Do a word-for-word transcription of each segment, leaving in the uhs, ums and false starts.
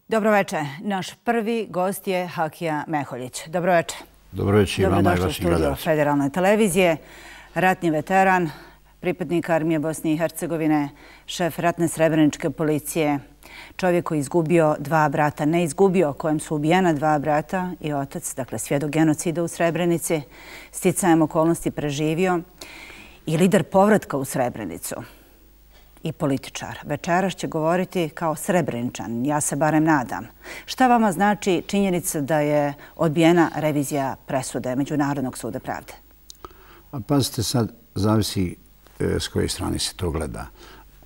Dobroveče. Naš prvi gost je Hakija Meholjić. Dobroveče. Dobroveče i vama i vašim gledalcima. Federalne televizije, ratni veteran, pripadnik Armije Bosne i Hercegovine, šef ratne srebreničke policije, čovjek koji je izgubio dva brata, ne izgubio, kojem su ubijena dva brata i otac, dakle svjedok genocida u Srebrenici, sticajem okolnosti preživio i lider povratka u Srebrenicu. I političar. Večeras će govoriti kao Srebreničan, ja se barem nadam. Šta vama znači činjenica da je odbijena revizija presude Međunarodnog suda pravde? A pazite, sad zavisi e, s koje strane se to gleda.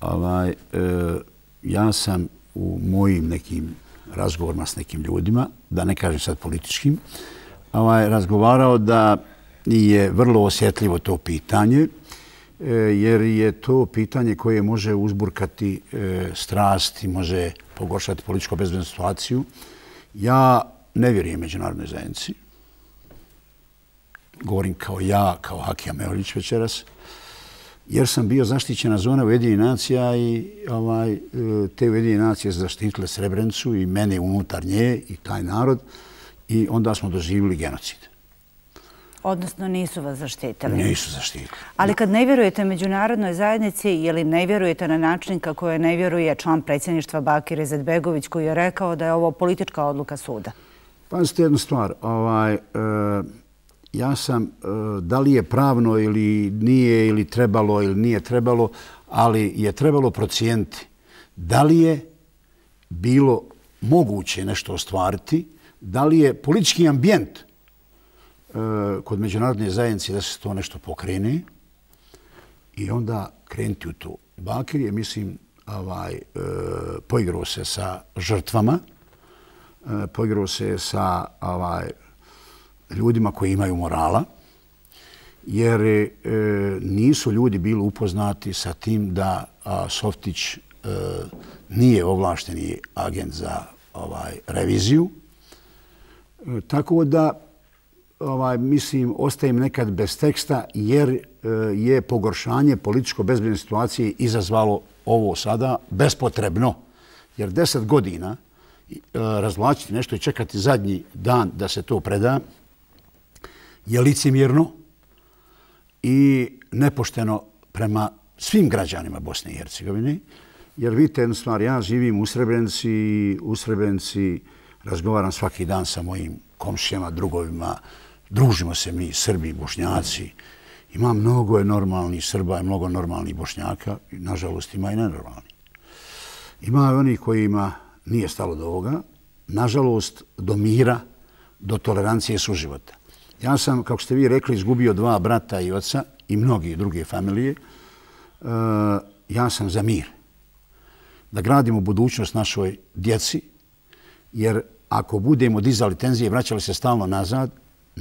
Ovaj, e, ja sam u mojim nekim razgovorima s nekim ljudima, da ne kažem sad političkim, ovaj, razgovarao da je vrlo osjetljivo to pitanje, jer je to pitanje koje može uzburkati strast i može pogoršati političko bezbednu situaciju. Ja ne vjerujem međunarodnoj zajednici. Govorim kao ja, kao Hakija Meholjić večeras, jer sam bio zaštićena zona Ujedinjenih nacija i ovaj, te Ujedinjene nacije su zaštitile Srebrenicu i mene unutar nje i taj narod i onda smo doživjeli genocid. Odnosno nisu vas zaštitili. Nisu zaštitili. Ali kad ne vjerujete međunarodnoj zajednici ili ne vjerujete na način kako je ne vjeruje član predsjedništva Bakir Izetbegović koji je rekao da je ovo politička odluka suda? Pazite jednu stvar. Ovaj, e, ja sam, e, da li je pravno ili nije ili trebalo ili nije trebalo, ali je trebalo procijeniti da li je bilo moguće nešto ostvariti, da li je politički ambijent kod međunarodne zajednice da se to nešto pokrene i onda krenuti u to. Bakir je, mislim, ovaj, e, poigrao se sa žrtvama, e, poigrao se sa ovaj, ljudima koji imaju morala, jer e, nisu ljudi bili upoznati sa tim da a, Softić e, nije ovlašteni agent za ovaj, reviziju. E, tako da Ovaj, mislim, ostajem nekad bez teksta jer e, je pogoršanje političko-bezbedne situacije izazvalo ovo sada bespotrebno. Jer deset godina e, razvlačiti nešto i čekati zadnji dan da se to preda je licemjerno i nepošteno prema svim građanima Bosne i Hercegovine. Jer vidite jednu stvar, ja živim u Srebrenici i u Srebrenici razgovaram svaki dan sa mojim komšijama, drugovima. Družimo se mi, Srbi, Bošnjaci. Ima mnogo je normalnih Srba i mnogo normalnih Bošnjaka. Nažalost, ima i nenormalnih. Ima oni kojima nije stalo do ovoga. Nažalost, do mira, do tolerancije i suživota. Ja sam, kako ste vi rekli, izgubio dva brata i oca i mnogi druge familije. E, ja sam za mir. Da gradimo budućnost našoj djeci, jer ako budemo dizali tenzije i vraćali se stalno nazad,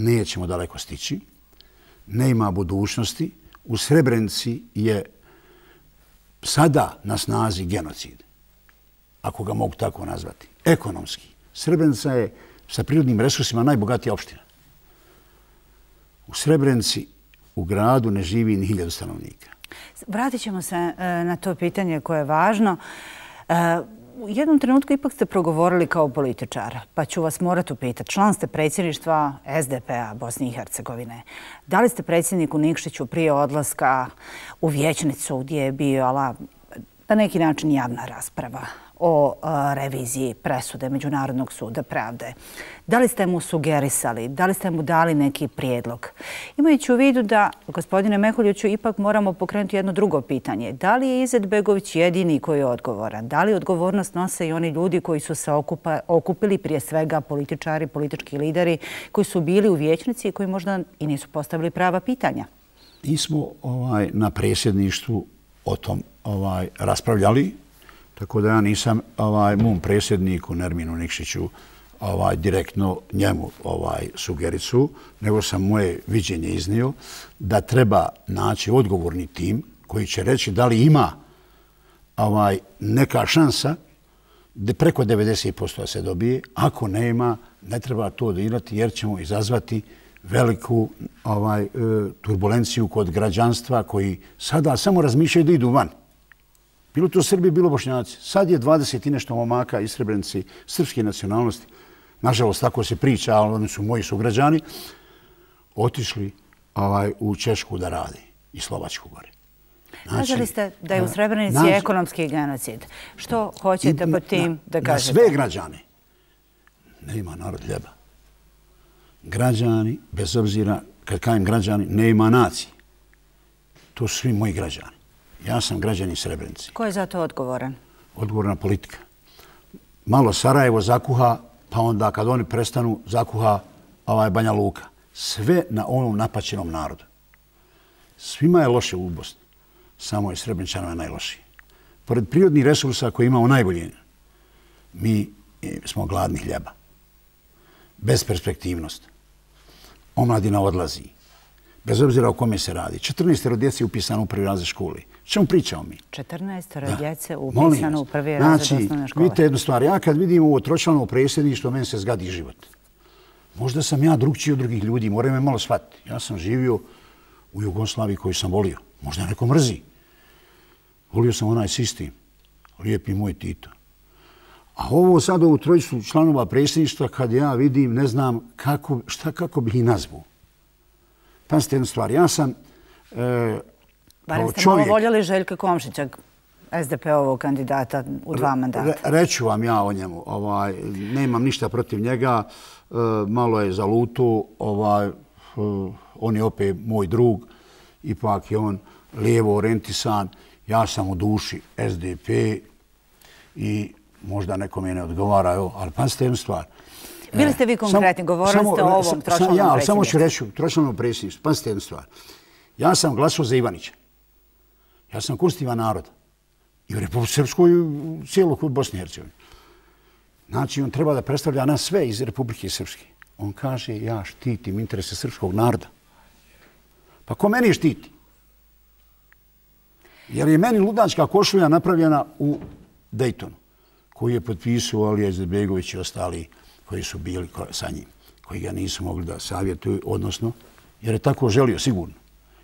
nećemo daleko stići. Nema budućnosti. U Srebrenici je sada na snazi genocid, ako ga mogu tako nazvati, ekonomski. Srebrenica je sa prirodnim resursima najbogatija opština. U Srebrenici, u gradu, ne živi ni hiljadu stanovnika. Vratit ćemo se na to pitanje koje je važno. U jednom trenutku ipak ste progovorili kao političar, pa ću vas morati upitati. Član ste predsjedništva S D P-a Bosne i Hercegovine. Da li ste predsjedniku Nikšiću prije odlaska u vijećnicu gdje je bila na neki način javna rasprava o reviziji presude Međunarodnog suda pravde? Da li ste mu sugerisali, da li ste mu dali neki prijedlog? Imajući u vidu da, gospodine Meholjiću, ipak moramo pokrenuti jedno drugo pitanje. Da li je Izetbegović jedini koji je odgovoran? Da li odgovornost nose i oni ljudi koji su se okupa, okupili, prije svega političari, politički lideri, koji su bili u vijećnici i koji možda i nisu postavili prava pitanja? Mi smo ovaj, na predsjedništvu o tom ovaj, raspravljali. Tako da ja nisam ovaj, mom predsjedniku Nerminu Nikšiću ovaj, direktno njemu ovaj, sugericu, nego sam moje viđenje iznio da treba naći odgovorni tim koji će reći da li ima ovaj, neka šansa da preko devedeset posto se dobije. Ako nema, ne treba to dirati jer ćemo izazvati veliku ovaj, e, turbulenciju kod građanstva koji sada samo razmišljaju da idu van. Bilo to Srbi, bilo Bošnjaci. Sad je dvadeset i nešto momaka iz Srebrenice srpske nacionalnosti. Nažalost, tako se priča, ali oni su moji sugrađani, otišli ovaj, u Češku da radi i Slovačku gore. Kaželi ste da je u Srebrenici ekonomski genocid. Što hoćete po tim da kažete? Na sve građane. Nema narod hljeba. Građani, bez obzira, kad kajem građani, nema nacije. To su svi moji građani. Ja sam građanin Srebrenice. Ko je za to odgovoran? Odgovorna politika. Malo Sarajevo zakuha, pa onda kad oni prestanu, zakuha ovaj Banja Luka. Sve na onom napaćenom narodu. Svima je loše u Bosni. Samo je Srebreničanima najlošije. Pored prirodnih resursa koje imamo najbolje, mi smo gladni hljeba. Besperspektivnost. Omladina odlazi. Bez obzira o kome se radi. četrnaestoro djece je upisano u prvi razred škole. Čemu pričamo mi? četrnaestoro djece upisano u prvi razred osnovne škole. Vidite jednu stvar. Ja kad vidim ovo tročlano predsjedništvo, meni se zgadi život. Možda sam ja drugčiji od drugih ljudi. Moraju me malo shvatiti. Ja sam živio u Jugoslaviji koju sam volio. Možda neko mrzi. Volio sam onaj sistem. Lijepi moj Tito. A ovo sad, ovu trojicu članova predsjedništva, kad ja vidim, ne znam kako, šta, kako bih ih nazvao. Pazite jednu stvar. Ja sam e, Barem ste malo voljeli Željka Komšića, S D P-ovog kandidata u dva mandata. Re, reću vam ja o njemu. Ovaj, nemam ništa protiv njega. E, malo je zaluto. Ovaj, e, on je opet moj drug. Ipak je on lijevo orijentisan. Ja sam u duši S D P i možda nekome ne odgovara. Evo, ali pazite jednu stvar. Bili ste vi konkretni, govorili ste o ovom tročlanom predsjedništvu. Ja, samo ću reći tročlanom predsjedništvu. Pazite jednu stvar. Ja sam glasao za Ivanića. Ja sam konstitutivan narod. I u Republike Srpskoj i u cijelog Bosne i Hercegovine. Znači, on treba da predstavlja nas sve iz Republike Srpske. On kaže, ja štitim interese srpskog naroda. Pa ko meni štiti? Jer je meni ludačka košulja napravljena u Dejtonu, koji je potpisao Alija Izetbegović i ostali koji su bili sa njim, koji ga nisu mogli da savjetuju, odnosno, jer je tako želio, sigurno.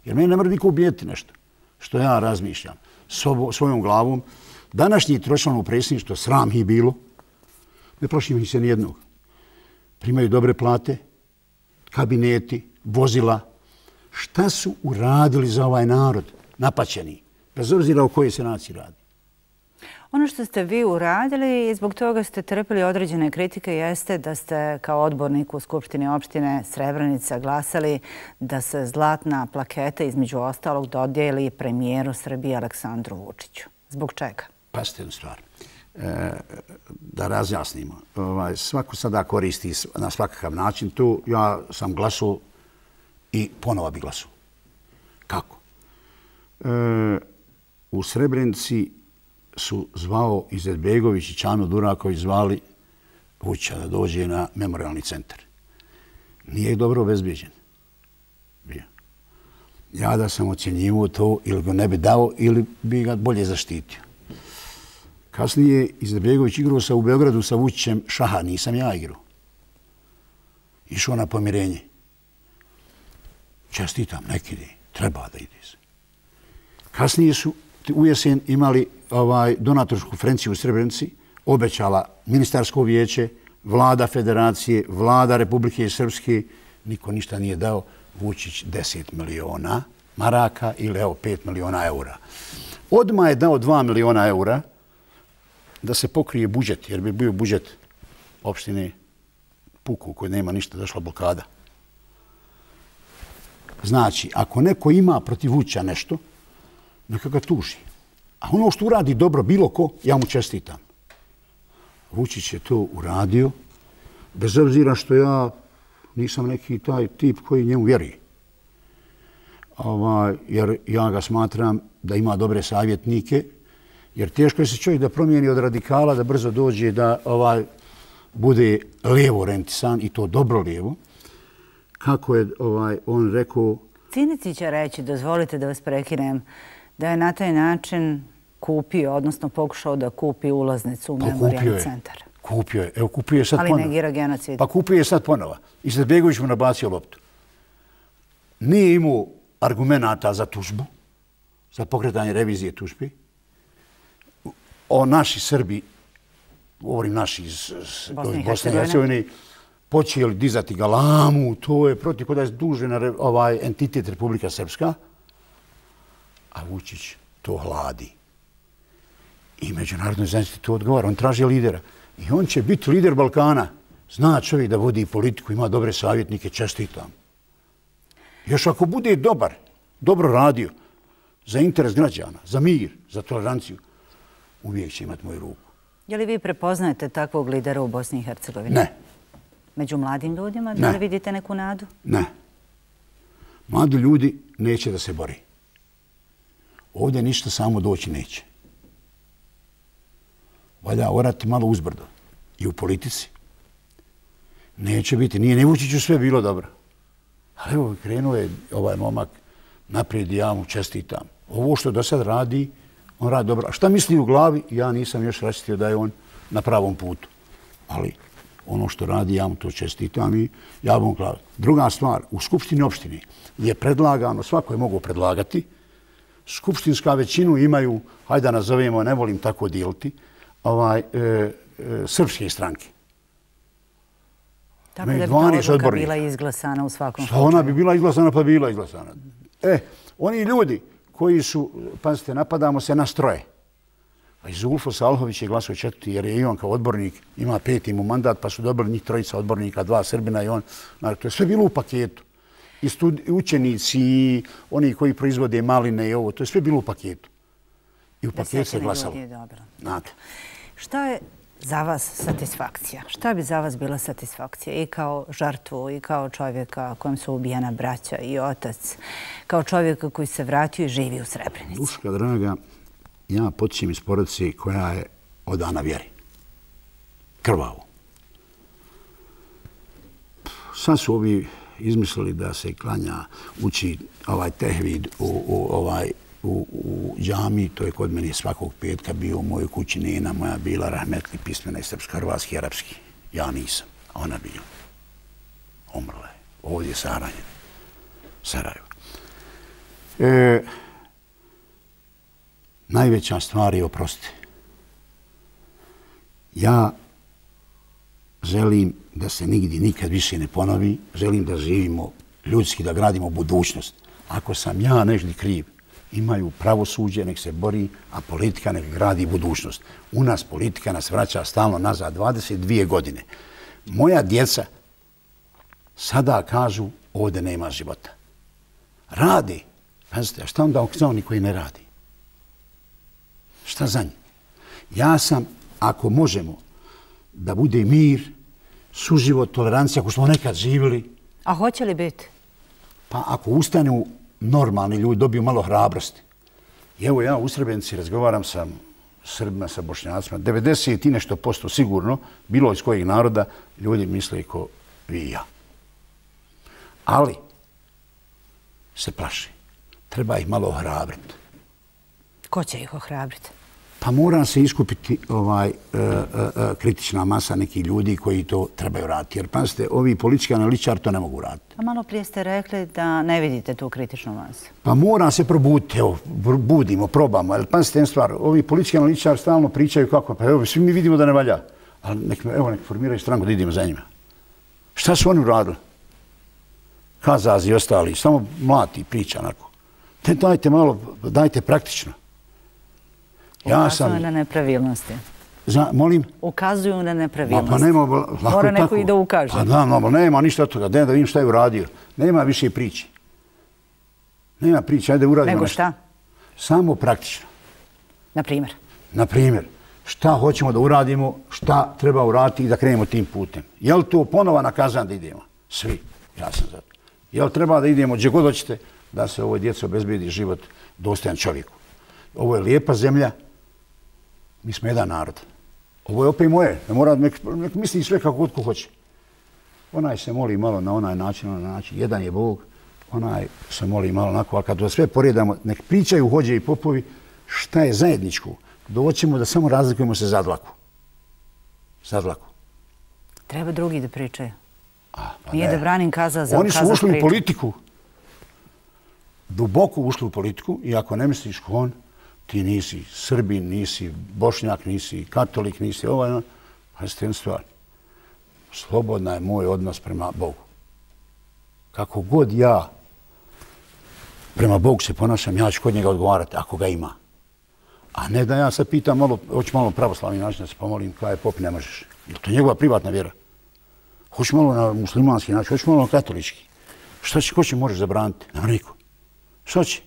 Jer meni ne mora niko ubijeti nešto, što ja razmišljam sobo, svojom glavom. Današnji tročlanovo predsjedništvo, sram ih bilo, ne plašim ih se nijednog. Primaju dobre plate, kabineti, vozila. Šta su uradili za ovaj narod, napaćeni, bez obzira o kojoj se naciji radi? Ono što ste vi uradili i zbog toga ste trpili određene kritike jeste da ste kao odbornik u Skupštini opštine Srebrenica glasali da se zlatna plaketa između ostalog dodijeli premijeru Srbije Aleksandru Vučiću. Zbog čega? Pazite jednu stvar. E, da razjasnimo. Ovaj, svako sada koristi na svakav način. Tu ja sam glasao i ponovo bi glasao. Kako? E, u Srebrenici su zvao Izetbegović i Čanu Duraković zvali Vučića da dođe na memorialni centar. Nije dobro obezbeđen. Bio. Ja da sam ocjenjivao to ili ga ne bi dao ili bi ga bolje zaštitio. Kasnije Izetbegović igrao sa u Beogradu sa Vučićem šaha, nisam ja igrao. Išao na pomirenje. Čestitam, neki ide, treba da ide se. Kasnije su u jesen imali ovaj, donatorsku konferenciju u Srebrenici, obećala ministarsko vijeće, vlada federacije, vlada Republike Srpske, niko ništa nije dao, Vučić deset miliona maraka ili evo pet miliona eura. Odmah je dao dva miliona eura da se pokrije budžet, jer bi bio budžet opštine Puku koji nema ništa, došla blokada. Znači, ako neko ima protiv Vučića nešto, neka ga tuži. A ono što uradi dobro bilo ko, ja mu čestitam. Vučić je to uradio, bez obzira što ja nisam neki taj tip koji njemu vjeruje. Ovaj, jer ja ga smatram da ima dobre savjetnike, jer teško je se čovjek da promijeni od radikala, da brzo dođe da ovaj, bude lijevo orijentisan i to dobro lijevo. Kako je ovaj, on rekao... Cinici će reći, dozvolite da vas prekinem, da je na taj način kupio, odnosno pokušao da kupi ulaznicu u memorijalni centar. Kupio je. Evo, kupio je sad ponovo. Ali negira genocid. Pa kupio je sad ponovo. I Izetbegović mu nabacio loptu. Nije imao argumenata za tužbu, za pokretanje revizije tužbi. O naši Srbi, govorim naši iz Bosne i Hercegovine, počeli dizati galamu, to je protiv kod je dužen ovaj entitet Republika Srpska, a Vučić to hladi. I međunarodnoj zajednici to odgovara. On traži lidera. I on će biti lider Balkana. Zna čovjek da vodi politiku, ima dobre savjetnike, čestitam. Još ako bude dobar, dobro radio za interes građana, za mir, za toleranciju, uvijek će imati moju ruku. Je li vi prepoznajete takvog lidera u Bosni i Hercegovini? Ne. Među mladim ljudima? Da li vidite neku nadu? Ne. Mladi ljudi neće da se bori. Ovdje ništa samo doći neće. Valja orati malo uzbrdo. I u politici. Neće biti. Nije ni Vučiću sve bilo dobro. Ali evo, krenuo je ovaj momak naprijed i ja mu čestitam. Ovo što do sad radi, on radi dobro. A šta misli u glavi, ja nisam još račistio da je on na pravom putu. Ali ono što radi, ja mu to čestitam i ja bom glavi. Druga stvar, u Skupštini opštine je predlagano, svako je mogo predlagati, skupštinska većinu imaju, hajde da nazovemo, ne volim tako dijeliti, ovaj, e, e, srpske stranke. Tako da bi ta odluka bila izglasana u svakom slučaju. Ona bi bila izglasana, pa bila izglasana. E, oni ljudi koji su, pazite, napadamo se na stroje. A i Zulfo Salhović je glasao četvrti, jer je i on kao odbornik, ima peti mu mandat, pa su dobili njih trojica odbornika, dva Srbina i on. To je sve bilo u paketu. I učenici, i oni koji proizvode maline i ovo, to je sve bilo u paketu. I u paketu se glasalo. Znate. Šta je za vas satisfakcija? Šta bi za vas bila satisfakcija i kao žrtvu i kao čovjeka kojem su ubijena braća i otac, kao čovjeka koji se vratio i živi u Srebrenici? Duška draga, ja potičem iz porodice koja je odana vjeri. Krvavo. Sad su ovi izmislili da se klanja, uči ovaj tehvid u, u, ovaj, u, u džami, to je kod mene svakog petka bio u mojoj kući, nena moja bila rahmetli pismena i srpsko-hrvatski i arapski. Ja nisam, a ona bila. Umrla je. Ovdje je sahranjena. Sarajevo. E, najveća stvar je oprosti. Ja želim da se nigdje nikad više ne ponovi. Želim da živimo ljudski, da gradimo budućnost. Ako sam ja nešto kriv, imaju pravosuđe, nek se bori, a politika nek gradi budućnost. U nas politika nas vraća stalno nazad, dvadeset dvije godine. Moja djeca sada kažu ovdje nema života. Radi. Pazite, a šta onda za oni koji ne radi? Šta za njih? Ja sam, ako možemo, da bude mir, suživot, tolerancija, ako smo nekad živjeli. A hoće li biti? Pa ako ustanu normalni ljudi, dobiju malo hrabrosti. I evo ja u Srebrenici razgovaram sa Srbima, sa Bošnjacima. devedeset i nešto posto sigurno, bilo iz kojeg naroda, ljudi misle ko vi i ja. Ali se plaši. Treba ih malo ohrabriti. Ko će ih ohrabriti? Pa mora se iskupiti ovaj, uh, uh, kritična masa nekih ljudi koji to trebaju raditi. Jer, pazite, ovi politički analitičari to ne mogu raditi. A malo prije ste rekli da ne vidite tu kritičnu masu. Pa mora se probuditi. Evo, budimo, probamo. Ali, pazite, jedna stvar. Ovi politički analitičari stalno pričaju kako. Pa evo, svi mi vidimo da ne valja. Ali nek, evo, nek formiraju stranku da idemo za njima. Šta su oni uradili? Kazazi i ostali. Samo mlati priča onako. Te dajte malo, dajte praktično. Ja sam... Ukazuju na nepravilnosti. Za, molim? Ukazuju na nepravilnosti. Ma, pa nema... Mora neko tako i da ukaže. Pa da, no, nema ništa od toga. Da vidim šta je uradio. Nema više priče. Nema priče. Ajde uradimo Nego nešto. šta? Samo praktično. Na primjer? Na primjer. Šta hoćemo da uradimo, šta treba uraditi i da krenemo tim putem. Je li to ponova na Kazan da idemo? Svi. Ja sam za to. Je li treba da idemo gdje god hoćete da se ovoj djeci obezbedi život dostojan čovjeku? Ovo je lijepa zemlja. Mi smo jedan narod. Ovo je opet moje. Ne mora, nek, nek misli sve kako ko hoće. Onaj se moli malo na onaj način, na onaj način. Jedan je Bog, onaj se moli malo onako. A kad to sve poredamo, nek pričaju hođe i popovi, šta je zajedničko, doćemo da samo razlikujemo se za dlaku. Za dlaku. Treba drugi da pričaju. A, pa Nije ne. da branim kaza za Oni su kaza ušli priču. u politiku. Duboko ušli u politiku i ako ne misliš ko on, ti nisi Srbin, nisi Bošnjak, nisi katolik, nisi ovaj, ono, pa je jednu stvar. Slobodna je moj odnos prema Bogu. Kako god ja prema Bogu se ponašam, ja ću kod njega odgovarati ako ga ima. A ne da ja sad pitam malo, hoću malo pravoslavni način da se pomolim, kada je pop ne možeš. Je to njegova privatna vjera? Hoću malo na muslimanski način, hoću malo na katolički. Šta će, ko će možeš zabraniti? Nema niko. Šta će?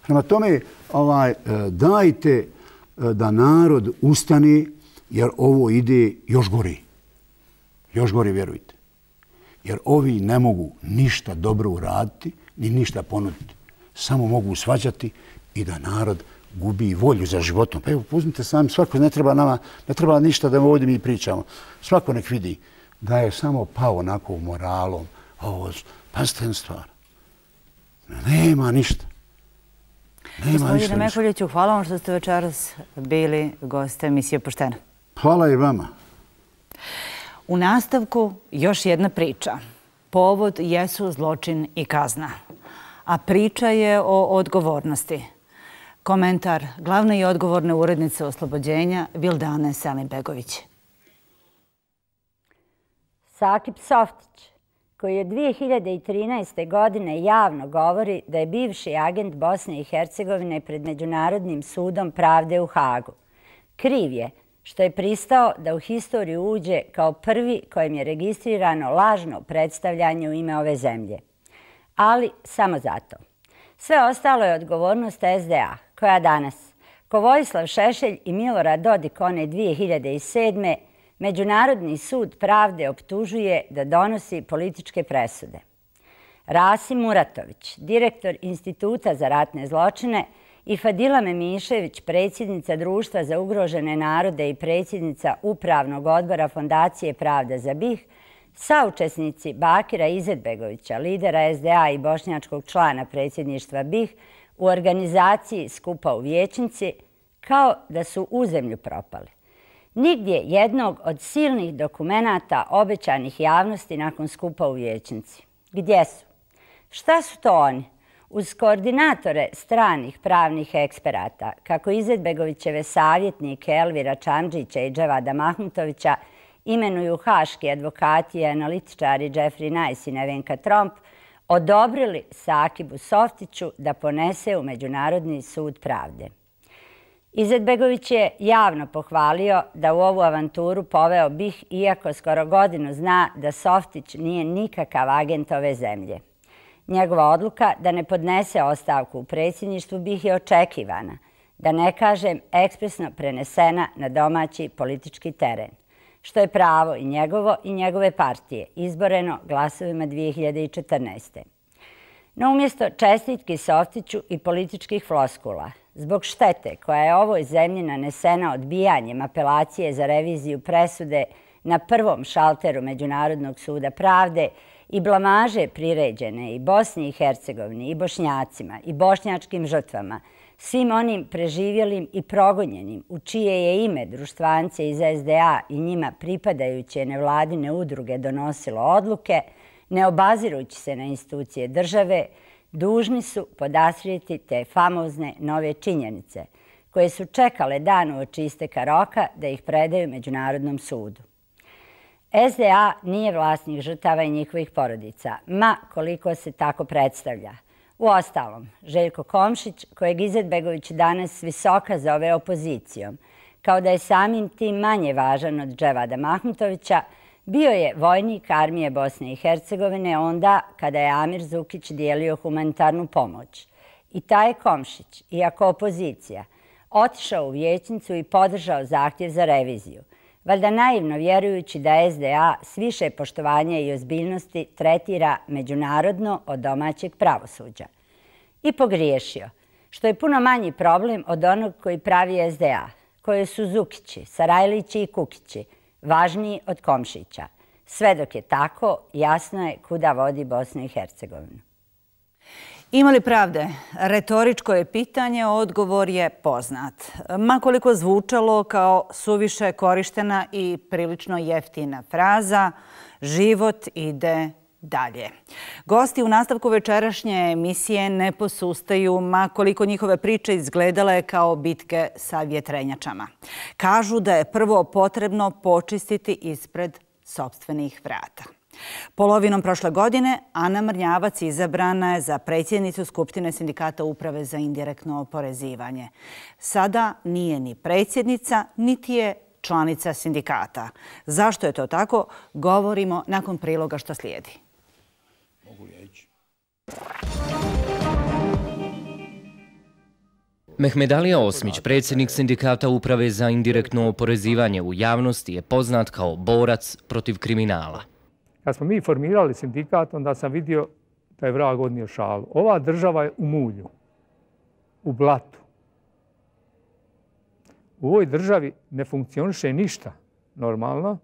Prema tome, ovaj, dajte da narod ustane, jer ovo ide još gori. Još gori, vjerujte. Jer ovi ne mogu ništa dobro uraditi, ni ništa ponuditi. Samo mogu svađati i da narod gubi volju za životom. Pa evo, uzmite sami, svako ne treba nama, ne treba ništa da ovdje mi pričamo. Svako nek vidi da je samo pao onako moralom. Ovo, pazite jednu stvar. Nema ništa. Gospodine Meholjiću, hvala vam što ste večeras bili goste emisije Poštena. Hvala i vama. U nastavku još jedna priča. Povod jesu zločin i kazna. A priča je o odgovornosti. Komentar glavne i odgovorne urednice Oslobođenja Vildane Selimbegović. Sakip Softić, koji od dvije hiljade trinaeste. godine javno govori da je bivši agent Bosne i Hercegovine pred Međunarodnim sudom pravde u Hagu. Kriv je što je pristao da u historiju uđe kao prvi kojem je registrirano lažno predstavljanje u ime ove zemlje. Ali samo zato. Sve ostalo je odgovornost S D A, koja danas, ko Vojislav Šešelj i Milorad Dodik one dvije hiljade sedme. Međunarodni sud pravde optužuje da donosi političke presude. Rasim Muratović, direktor Instituta za ratne zločine, i Fadila Memišević, predsjednica Društva za ugrožene narode i predsjednica Upravnog odbora Fondacije Pravda za B i H, saučesnici Bakira Izetbegovića, lidera S D A i bošnjačkog člana predsjedništva B i H, u organizaciji skupa u Vijećnici, kao da su u zemlju propali. Nigdje jednog od silnih dokumenata obećanih javnosti nakon skupa u Vijećnici. Gdje su? Šta su to oni? Uz koordinatore stranih pravnih eksperata, kako Izetbegovićeve savjetnike Elvira Čamdžića i Dževada Mahmutovića imenuju haški advokati i analitičari Jeffrey Nice i Nevenka Tromp, odobrili Sakibu Softiću da ponese u Međunarodni sud pravde. Izetbegović je javno pohvalio da u ovu avanturu poveo B i H, iako skoro godinu zna da Softić nije nikakav agent ove zemlje. Njegova odluka da ne podnese ostavku u predsjedništvu B i H je očekivana, da ne kažem ekspresno prenesena na domaći politički teren, što je pravo i njegovo i njegove partije, izboreno glasovima dvije hiljade četrnaeste. No umjesto čestitki Softiću i političkih floskula, zbog štete koja je ovoj zemlji nanesena odbijanjem apelacije za reviziju presude na prvom šalteru Međunarodnog suda pravde i blamaže priređene i Bosni i Hercegovini i Bošnjacima i bošnjačkim žrtvama, svim onim preživjelim i progonjenim u čije je ime društvance iz S D A i njima pripadajuće nevladine udruge donosilo odluke, ne obazirujući se na institucije države, dužni su podastrijeti te famozne nove činjenice, koje su čekale dan uoči isteka roka da ih predaju Međunarodnom sudu. S D A nije vlasnik žrtava i njihovih porodica, ma koliko se tako predstavlja. Uostalom, Željko Komšić, kojeg Izetbegović danas visoka zove opozicijom, kao da je samim tim manje važan od Dževada Mahmutovića, bio je vojnik armije Bosne i Hercegovine onda kada je Amir Zukić dijelio humanitarnu pomoć. I taj Komšić, iako opozicija, otišao u Vijećnicu i podržao zahtjev za reviziju, valjda naivno vjerujući da S D A s više poštovanja i ozbiljnosti tretira međunarodno od domaćeg pravosuđa. I pogriješio, što je puno manji problem od onog koji pravi S D A, koje su Zukići, Sarajlići i Kukići, važniji od Komšića. Sve dok je tako, jasno je kuda vodi Bosnu i Hercegovinu. Ima li pravde? Retoričko je pitanje, odgovor je poznat. Ma koliko zvučalo kao suviše korištena i prilično jeftina fraza, život ide dalje. Gosti u nastavku večerašnje emisije ne posustaju, ma koliko njihove priče izgledale kao bitke sa vjetrenjačama. Kažu da je prvo potrebno počistiti ispred sopstvenih vrata. Polovinom prošle godine Ana Mrnjavac izabrana je za predsjednicu Skupštine Sindikata Uprave za indirektno oporezivanje. Sada nije ni predsjednica, niti je članica sindikata. Zašto je to tako? Govorimo nakon priloga što slijedi. Mogu ja ići? Mehmedalija Osmić, predsjednik Sindikata Uprave za indirektno oporezivanje, u javnosti je poznat kao borac protiv kriminala. Kad smo mi formirali sindikat, onda sam vidio da je vrag odnio šalu. Ova država je u mulju, u blatu. U ovoj državi ne funkcioniše ništa normalno.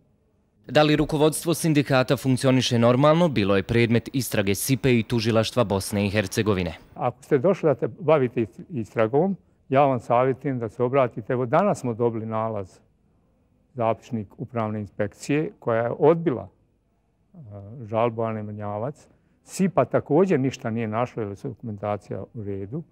Da li rukovodstvo sindikata funkcioniše normalno, bilo je predmet istrage S I P E i tužilaštva Bosne i Hercegovine. Ako ste došli da te bavite istragom, ja vam savjetujem da se obratite. Evo danas smo dobili nalaz, zapisnik upravne inspekcije koja je odbila žalbu Ane Mrnjavac. S I P A također ništa nije našlo jer je dokumentacija u redu.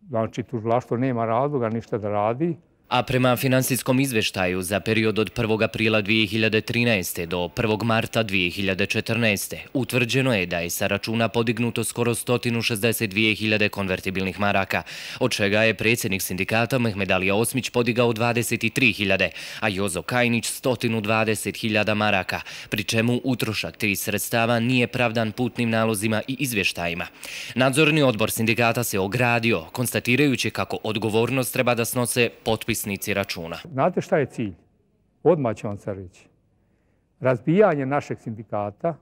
Znači, tužilaštvo nema razloga ništa da radi. A prema finansijskom izveštaju za period od prvog aprila dvije hiljade trinaeste. do prvog marta dvije hiljade četrnaeste. utvrđeno je da je sa računa podignuto skoro sto šezdeset dvije hiljade konvertibilnih maraka, od čega je predsjednik sindikata Mehmedalija Osmić podigao dvadeset tri hiljade, a Jozo Kajnić sto dvadeset hiljada maraka, pri čemu utrošak tih sredstava nije pravdan putnim nalozima i izvještajima. Nadzorni odbor sindikata se ogradio, konstatirajući kako odgovornost treba da snose potpis računa. Znate šta je cilj? Odmah ću vam sad reći. Razbijanje našeg sindikata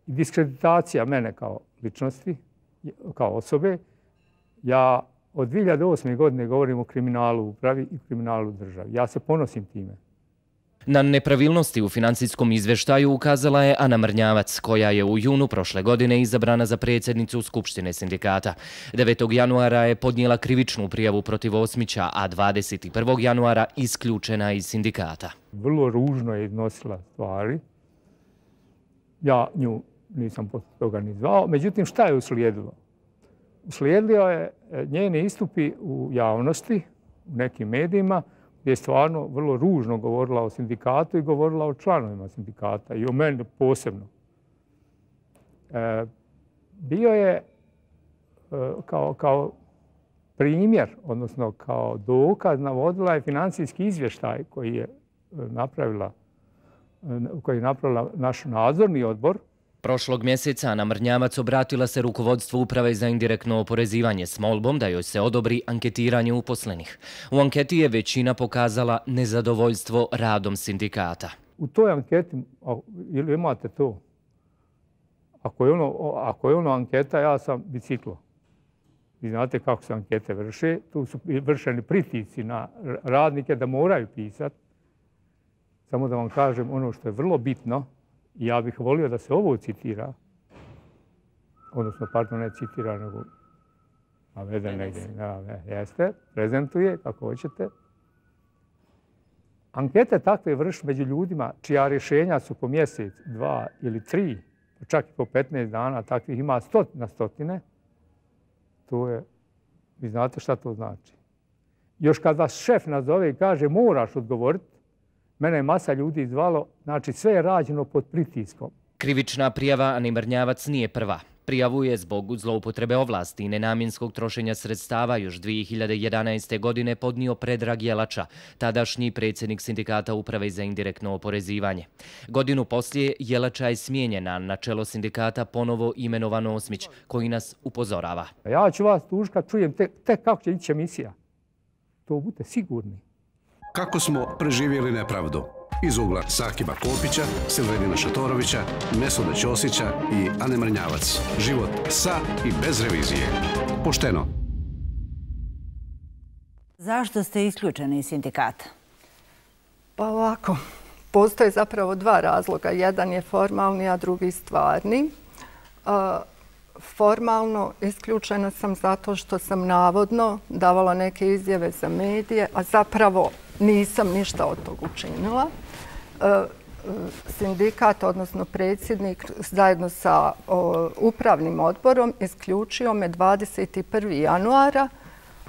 i diskreditacija mene kao ličnosti, kao osobe. Ja od dvije hiljade osme. godine govorim o kriminalu u upravi i kriminalu u državi. Ja se ponosim time. Na nepravilnosti u financijskom izveštaju ukazala je Ana Mrnjavac, koja je u junu prošle godine izabrana za predsjednicu Skupštine sindikata. devetog januara je podnijela krivičnu prijavu protiv Osmića, a dvadeset prvog januara isključena iz sindikata. Vrlo ružno je iznosila stvari. Ja nju nisam posle toga ni zvao. Međutim, šta je uslijedilo? Uslijedilo je njeni istupi u javnosti, u nekim medijima, gdje je stvarno vrlo ružno govorila o sindikatu i govorila o članovima sindikata i o meni posebno. E, bio je e, kao, kao primjer, odnosno kao dokaz, navodila je financijski izvještaj koji je napravila, koji je napravila naš nadzorni odbor. Prošlog mjeseca Ana Mrnjavac obratila se rukovodstvu Uprave za indirektno oporezivanje s molbom da joj se odobri anketiranje uposlenih. U anketi je većina pokazala nezadovoljstvo radom sindikata. U toj anketi, ili imate to? Ako je ono, ako je ono anketa, ja sam biciklo. Vi znate kako se ankete vrše. Tu su vršeni pritisci na radnike da moraju pisati. Samo da vam kažem ono što je vrlo bitno. Ja bih volio da se ovo citira, odnosno, pardon, ne citira, nego navede negdje. Jeste, prezentuje, kako hoćete. Ankete takve vrši među ljudima čija rješenja su po mjesec, dva ili tri, čak i po petnaest dana, takvih ima stot na stotine. To je, vi znate šta to znači. Još kad vas šef nazove i kaže moraš odgovoriti, mene je masa ljudi zvalo, znači sve je rađeno pod pritiskom. Krivična prijava Ani Mrnjavac nije prva. Prijavu je zbog zloupotrebe ovlasti i nenamjenskog trošenja sredstava još dvije hiljade jedanaeste. godine podnio Predrag Jelača, tadašnji predsjednik Sindikata Uprave za indirektno oporezivanje. Godinu poslije Jelača je smijenjena, na čelo sindikata ponovo imenovan Osmić, koji nas upozorava. Ja ću vas tužiti kad čujem tek te kako će ići emisija. To budite sigurni. Kako smo preživjeli nepravdu? Iz ugla Sakiba Kopića, Silvedina Šatorovića, Mesuda Ćosića i Ane Mrnjavac. Život sa i bez revizije. Pošteno. Zašto ste isključeni iz sindikata? Pa ovako, postoje zapravo dva razloga. Jedan je formalni, a drugi stvarni. formalno isključena sam zato što sam navodno davala neke izjave za medije, a zapravo nisam ništa od tog učinila. Sindikat, odnosno predsjednik, zajedno sa upravnim odborom isključio me dvadeset prvog januara,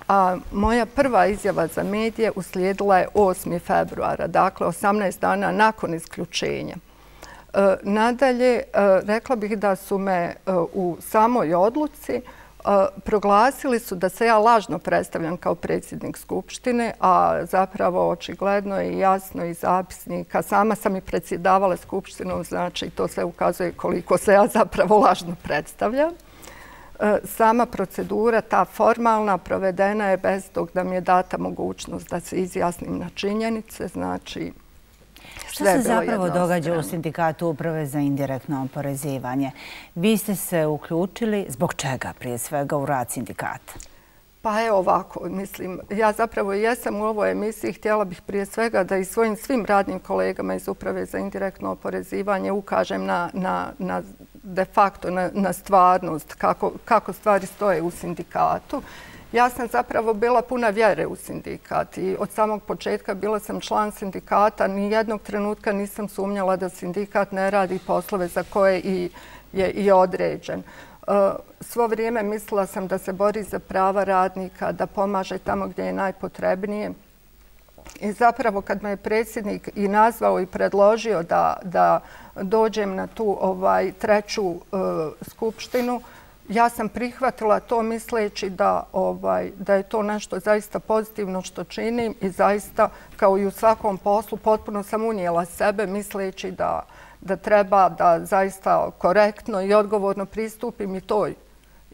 a moja prva izjava za medije uslijedila je osmog februara, dakle osamnaest dana nakon isključenja. Nadalje, rekla bih da su me u samoj odluci proglasili su da se ja lažno predstavljam kao predsjednik Skupštine, a zapravo očigledno je jasno iz zapisnika. Sama sam i predsjedavala Skupštinom, znači to sve ukazuje koliko se ja zapravo lažno predstavljam. Sama procedura, ta formalna, provedena je bez tog da mi je data mogućnost da se izjasnim na činjenice, znači Što se zapravo događa u Sindikatu uprave za indirektno oporezivanje? Vi ste se uključili zbog čega prije svega u rad sindikata? Pa evo ovako, mislim, ja zapravo jesam u ovoj emisiji, htjela bih prije svega da i svojim svim radnim kolegama iz uprave za indirektno oporezivanje ukažem na, na, na de facto, na, na stvarnost, kako, kako stvari stoje u sindikatu. Ja sam zapravo bila puna vjere u sindikat i od samog početka bila sam član sindikata. Nijednog trenutka nisam sumnjala da sindikat ne radi poslove za koje i je i određen. Svo vrijeme mislila sam da se bori za prava radnika, da pomaže tamo gdje je najpotrebnije. I zapravo kad me je predsjednik i nazvao i predložio da, da dođem na tu ovaj, treću uh, skupštinu, ja sam prihvatila to misleći da, ovaj, da je to nešto zaista pozitivno što činim i zaista, kao i u svakom poslu, potpuno sam unijela sebe misleći da, da treba da zaista korektno i odgovorno pristupim i toj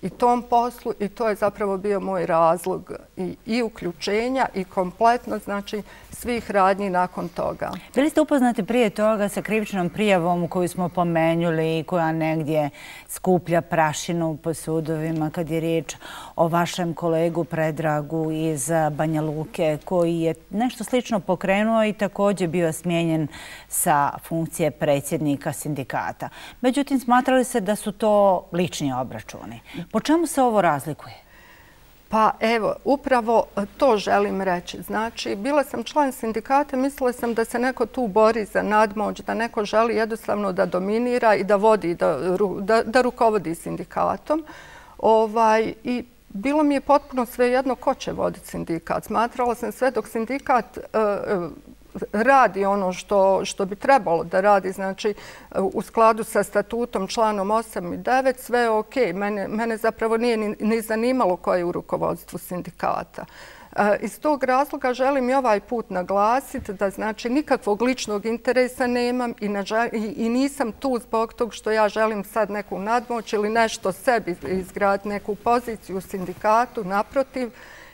i tom poslu i to je zapravo bio moj razlog i, i uključenja i kompletno znači svih radnji nakon toga. Bili ste upoznati prije toga sa krivičnom prijavom koju smo pomenuli i koja negdje skuplja prašinu po sudovima kad je riječ o vašem kolegu Predragu iz Banja Luke koji je nešto slično pokrenuo i također bio smijenjen sa funkcije predsjednika sindikata. Međutim, smatrali se da su to lični obračuni. Po čemu se ovo razlikuje? Pa evo, upravo to želim reći. Znači, bila sam član sindikata, mislila sam da se neko tu bori za nadmoć, da neko želi jednostavno da dominira i da vodi, da, da, da rukovodi sindikatom. Ovaj, I bilo mi je potpuno svejedno ko će voditi sindikat. Smatrala sam sve dok sindikat uh, radi ono što, što bi trebalo da radi, znači u skladu sa statutom članom osam i devet, sve je ok. Mene, mene zapravo nije ni, ni zanimalo ko je u rukovodstvu sindikata. E, iz tog razloga želim i ovaj put naglasiti da znači nikakvog ličnog interesa nemam i, na, i, i nisam tu zbog tog što ja želim sad neku nadmoć ili nešto sebi izgraditi, neku poziciju u sindikatu, naprotiv.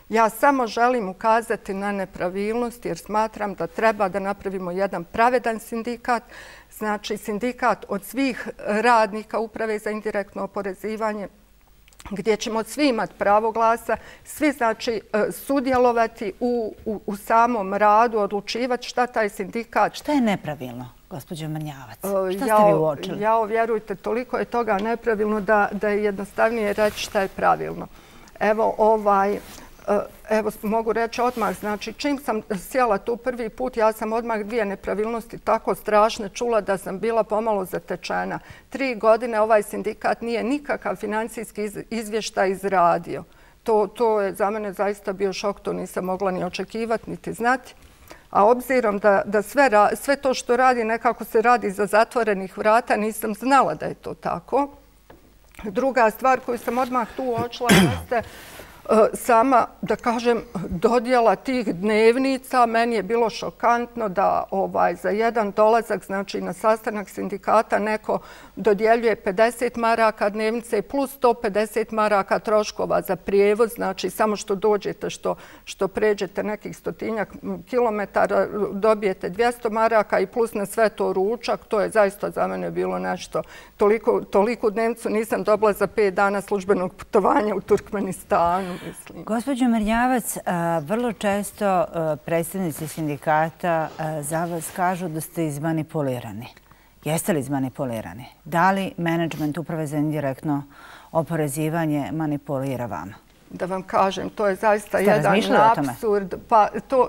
Ja samo želim ukazati na nepravilnost jer smatram da treba da napravimo jedan pravedan sindikat. Znači sindikat od svih radnika uprave za indirektno oporezivanje gdje ćemo svi imati pravo glasa, svi znači sudjelovati u, u, u samom radu, odlučivati šta taj sindikat... Šta je nepravilno, gospođo Mrnjavac? Šta ja, ste vi uočili? Ja, vjerujte, toliko je toga nepravilno da, da je jednostavnije reći šta je pravilno. Evo ovaj... Evo, mogu reći odmah, znači čim sam sjela tu prvi put, ja sam odmah dvije nepravilnosti tako strašne čula da sam bila pomalo zatečena. Tri godine ovaj sindikat nije nikakav financijski izvještaj izradio. To, to je za mene zaista bio šok, to nisam mogla ni očekivati, niti znati. A obzirom da, da sve, sve to što radi nekako se radi za zatvorenih vrata, nisam znala da je to tako. Druga stvar koju sam odmah tu uočila jeste sama, da kažem, dodjela tih dnevnica. Meni je bilo šokantno da ovaj, za jedan dolazak, znači na sastanak sindikata, neko dodjeljuje pedeset maraka dnevnice plus sto pedeset maraka troškova za prijevoz. Znači, samo što dođete, što, što pređete nekih stotinjak kilometara, dobijete dvjesto maraka i plus na sve to ručak. To je zaista za mene bilo nešto. Toliko, toliku dnevnicu nisam dobila za pet dana službenog putovanja u Turkmenistanu. Gospođo Mrnjavac, vrlo često predstavnici sindikata za vas kažu da ste izmanipulirani. Jeste li izmanipulirani? Da li menadžment Uprave za indirektno oporezivanje manipulira vama? Da vam kažem, to je zaista jedan apsurd. Pa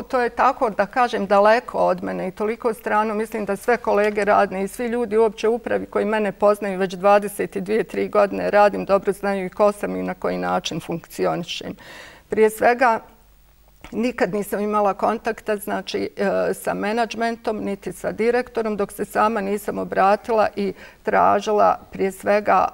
to je tako, da kažem, daleko od mene i toliko strano. Mislim da sve kolege radne i svi ljudi uopće u upravi koji mene poznaju već dvadeset dvije tri godine radim, dobro znaju i ko sam i na koji način funkcionišem. Prije svega, nikad nisam imala kontakta znači, sa menadžmentom, niti sa direktorom, dok se sama nisam obratila i tražila prije svega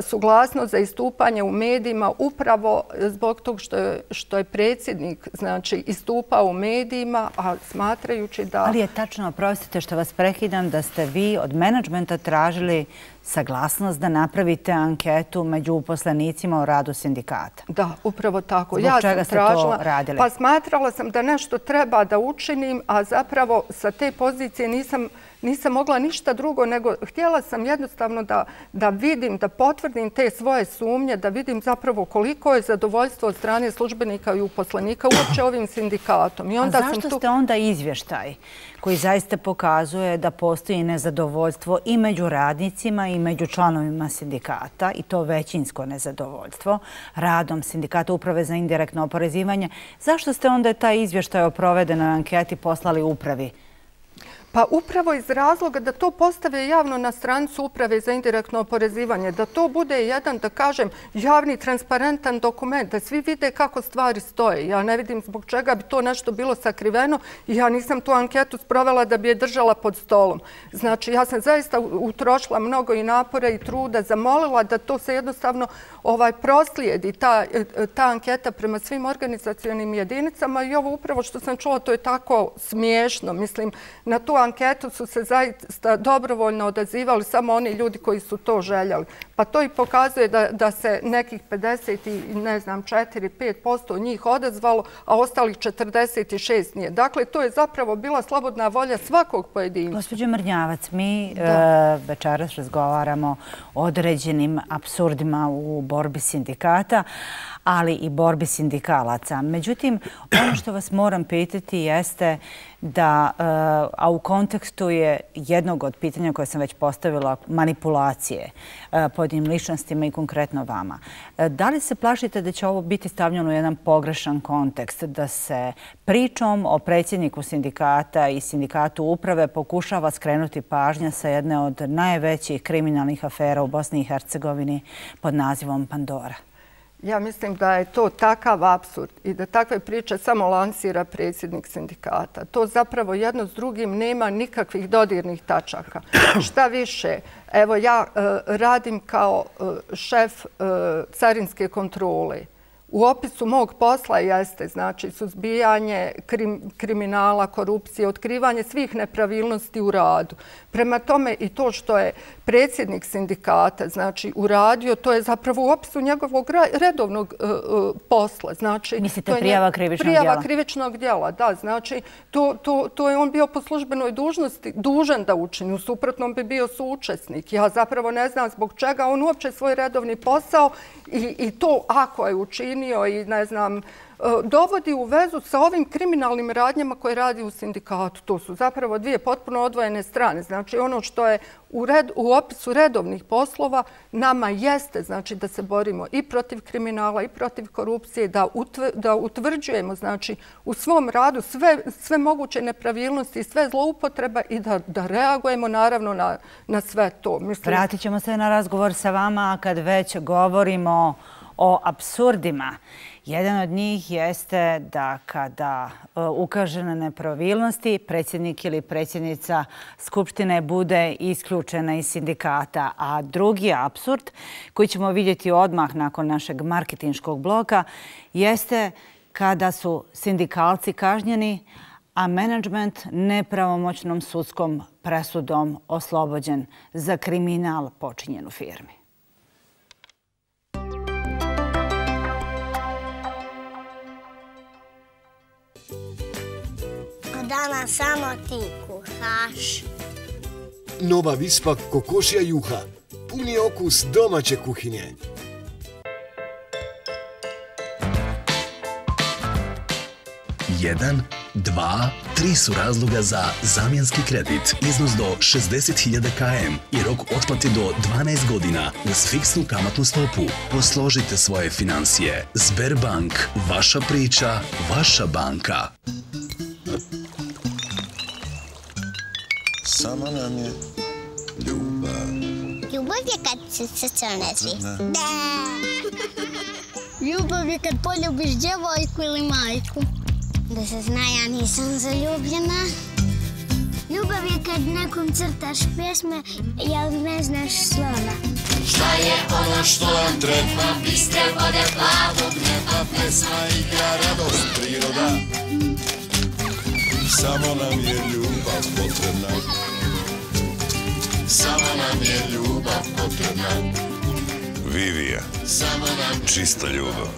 suglasnost za istupanje u medijima upravo zbog tog što je, što je predsjednik znači, istupao u medijima, a smatrajući da... Ali je tačno, oprostite što vas prekidam, da ste vi od menadžmenta tražili saglasnost da napravite anketu među uposlenicima o radu sindikata. Da, upravo tako. Zbog ja čega sam tražila, ste to radili? Pa smatrala sam da nešto treba da učinim, a zapravo sa te pozicije nisam Nisam mogla ništa drugo, nego htjela sam jednostavno da, da vidim, da potvrdim te svoje sumnje, da vidim zapravo koliko je zadovoljstvo od strane službenika i uposlenika uopće ovim sindikatom. I onda A zašto sam tu... ste onda izvještaj koji zaista pokazuje da postoji nezadovoljstvo i među radnicima i među članovima sindikata, i to većinsko nezadovoljstvo, radom sindikata Uprave za indirektno oporezivanje? Zašto ste onda taj izvještaj o provedenoj anketi poslali upravi? Pa upravo iz razloga da to postave javno na stranicu Uprave za indirektno oporezivanje, da to bude jedan, da kažem, javni, transparentan dokument, da svi vide kako stvari stoje. Ja ne vidim zbog čega bi to nešto bilo sakriveno i ja nisam tu anketu sprovela da bi je držala pod stolom. Znači, ja sam zaista utrošila mnogo i napora i truda, zamolila da to se jednostavno ovaj, proslijedi, ta, ta anketa prema svim organizacionim jedinicama i ovo upravo što sam čula, to je tako smiješno. Mislim, na tu anketu su se zaista dobrovoljno odazivali samo oni ljudi koji su to željeli. Pa to i pokazuje da, da se nekih pedeset i ne znam četiri do pet posto njih odazvalo, a ostalih četrdeset šest nije. Dakle, to je zapravo bila slobodna volja svakog pojedinca. Gospođo Mrnjavac, mi e, večeras razgovaramo o određenim apsurdima u borbi sindikata, ali i borbi sindikalaca. Međutim, ono što vas moram pitati jeste da, a u kontekstu je jednog od pitanja koje sam već postavila, manipulacije pojedinim ličnostima i konkretno vama. Da li se plašite da će ovo biti stavljeno u jedan pogrešan kontekst, da se pričom o predsjedniku sindikata i sindikatu uprave pokušava skrenuti pažnja sa jedne od najvećih kriminalnih afera u Bosni i Hercegovini pod nazivom Pandora? Ja mislim da je to takav apsurd i da takve priče samo lansira predsjednik sindikata. To zapravo jedno s drugim nema nikakvih dodirnih tačaka. Šta više, evo ja uh, radim kao uh, šef uh, carinske kontrole. U opisu mog posla jeste znači suzbijanje krim, kriminala, korupcije, otkrivanje svih nepravilnosti u radu. Prema tome i to što je predsjednik sindikata znači uradio, to je zapravo u opisu njegovog redovnog uh, posla. Znači, mislite prijava krivičnog prijava djela? Prijava krivičnog djela, da. Znači, to, to, to je on bio po službenoj dužnosti dužan da učini. U suprotnom bi bio suučesnik. Ja zapravo ne znam zbog čega on uopće svoj redovni posao i, i to ako je učinio i ne znam, dovodi u vezu sa ovim kriminalnim radnjama koje radi u sindikatu. To su zapravo dvije potpuno odvojene strane. Znači ono što je u, red, u opisu redovnih poslova nama jeste znači da se borimo i protiv kriminala i protiv korupcije, da, utv, da utvrđujemo znači u svom radu sve, sve moguće nepravilnosti i sve zloupotreba i da, da reagujemo naravno na, na sve to. Mislim... Vratit ćemo se na razgovor sa vama kad već govorimo o apsurdima. Jedan od njih jeste da kada ukaže na nepravilnosti, predsjednik ili predsjednica Skupštine bude isključena iz sindikata. A drugi apsurd, koji ćemo vidjeti odmah nakon našeg marketinškog bloka, jeste kada su sindikalci kažnjeni, a menadžment nepravomoćnom sudskom presudom oslobođen za kriminal počinjen u firmi. Danas samo ti kuhaš. Nova Vispa kokošja juha. Puni okus domaće kuhinje. Jedan, Dva, tri su razloga za zamjenski kredit. Iznos do šezdeset hiljada km i rok otplate do dvanaest godina uz fiksnu kamatnu stopu. Posložite svoje financije. Sberbank. Vaša priča, vaša banka. Samo nam je ljubav. Ljubav je kad se srce onezi. Da. Ljubav je kad poljubiš djevojku ili majku. Da se zna, ja nisam zaljubljena. Ljubav je kad nekom crtaš pjesme, jel ne znaš slova. Šta je ono što nam treba? Bistre vode plavog neba, pesma, igra, radost, priroda. Samo nam je ljubav potrebna. Samo nam je ljubav potrebna. Vivija, čista ljubav.